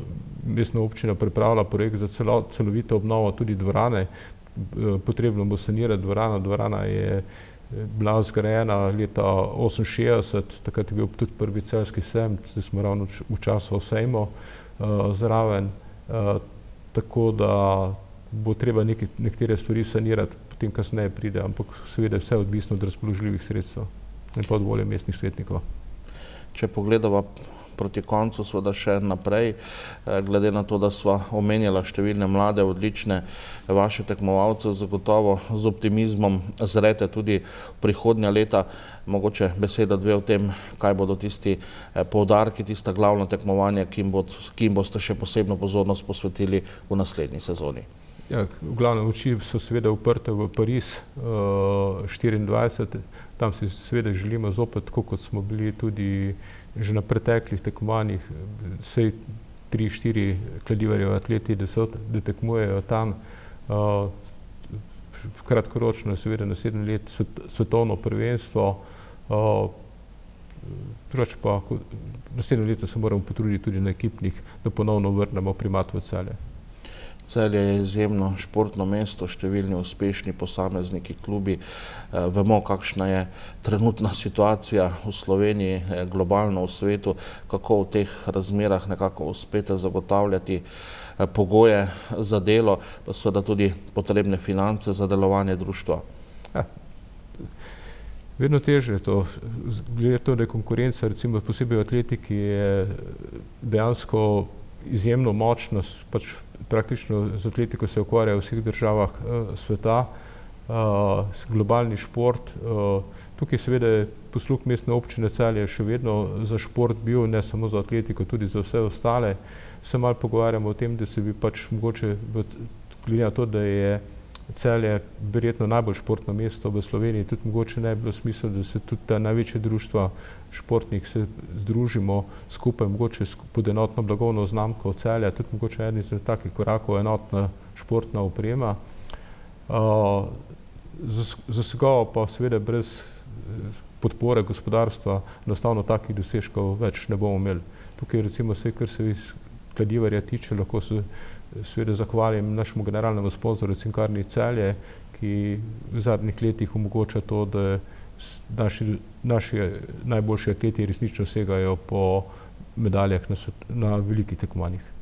[SPEAKER 14] mestna občina pripravlja projekt za celo, celovito obnovo tudi dvorane. Eh, potrebno bo sanirati dvorana, dvorana je bila zgrajena leta oseminšestdeset, takrat je bil tudi prvi celjski sejem, zdaj smo ravno v času sejmo uh, zraven, uh, tako da bo treba neke, nekatere stvari sanirati, potem kasneje pride, ampak seveda vse odvisno od razpoložljivih sredstev in pa od volje mestnih svetnikov.
[SPEAKER 1] Če pogledava proti koncu, seveda še naprej, glede na to, da sva omenjala številne mlade, odlične vaše tekmovalce, zagotovo z optimizmom zrete tudi prihodnja leta. Mogoče beseda dve o tem, kaj bodo tisti poudarki, tista glavna tekmovanja, ki jim boste še posebno pozornost posvetili v naslednji sezoni.
[SPEAKER 14] Ja, v glavnem oči so seveda uprte v Pariz uh, štiriindvajset, tam si seveda želimo zopet, tako kot smo bili tudi že na preteklih tekmovanjih, vsej tri, štiri Kladivarjevi atleti, da, so, da tekmujejo tam. Uh, kratkoročno je seveda naslednje let svet, svetovno prvenstvo, uh, drugače pa naslednje leto se moramo potruditi tudi na ekipnih, da ponovno vrnemo primat v Celje.
[SPEAKER 1] Celje je izjemno športno mesto, številni uspešni posamezniki, klubi. Vemo, kakšna je trenutna situacija v Sloveniji, globalno v svetu, kako v teh razmerah nekako uspete zagotavljati pogoje za delo, pa seveda tudi potrebne finance za delovanje društva.
[SPEAKER 14] Ja. Vedno težje je to. Glede to, da je konkurenca, recimo posebej v atletiki, je dejansko izjemno močna, pač praktično z atletiko se ukvarja v vseh državah uh, sveta, uh, globalni šport. Uh, tukaj seveda je posluh mestne občine Celje še vedno za šport bil, ne samo za atletiko, tudi za vse ostale. Se malo pogovarjamo o tem, da se bi pač mogoče, glede na to, da je Celje verjetno najbolj športno mesto v Sloveniji, tudi mogoče ne bi bilo smisel, da se tudi ta največje društva športnih se združimo skupaj, mogoče pod enotno blagovno znamko Celja, tudi mogoče eden izmed takih korakov enotna športna oprema. Zagotovo pa seveda brez podpore gospodarstva enostavno takih dosežkov več ne bomo imeli. Tukaj recimo vse, kar se iz kladivarja tiče, lahko se seveda zahvalim našemu generalnemu sponzorju Cinkarni Celje, ki v zadnjih letih omogoča to, da naši, naši najboljši atleti resnično segajo po medaljah na, na velikih tekmovanjih.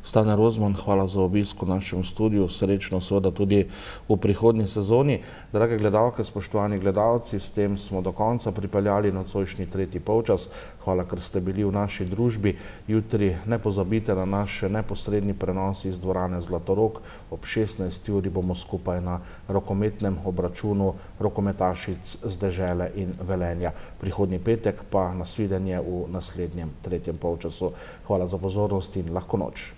[SPEAKER 1] Stane Rozman, hvala za obisk v našem studiu, srečno seveda tudi v prihodnji sezoni. Drage gledalke, spoštovani gledalci, s tem smo do konca pripeljali nocojšnji tretji polčas. Hvala, ker ste bili v naši družbi. Jutri ne pozabite na naš neposredni prenos iz dvorane Zlatorog. Ob šestnajsti uri bomo skupaj na rokometnem obračunu rokometašic z Dežele in Velenja. Prihodnji petek pa nasvidenje v naslednjem tretjem polčasu. Hvala za pozornost in lahko noč.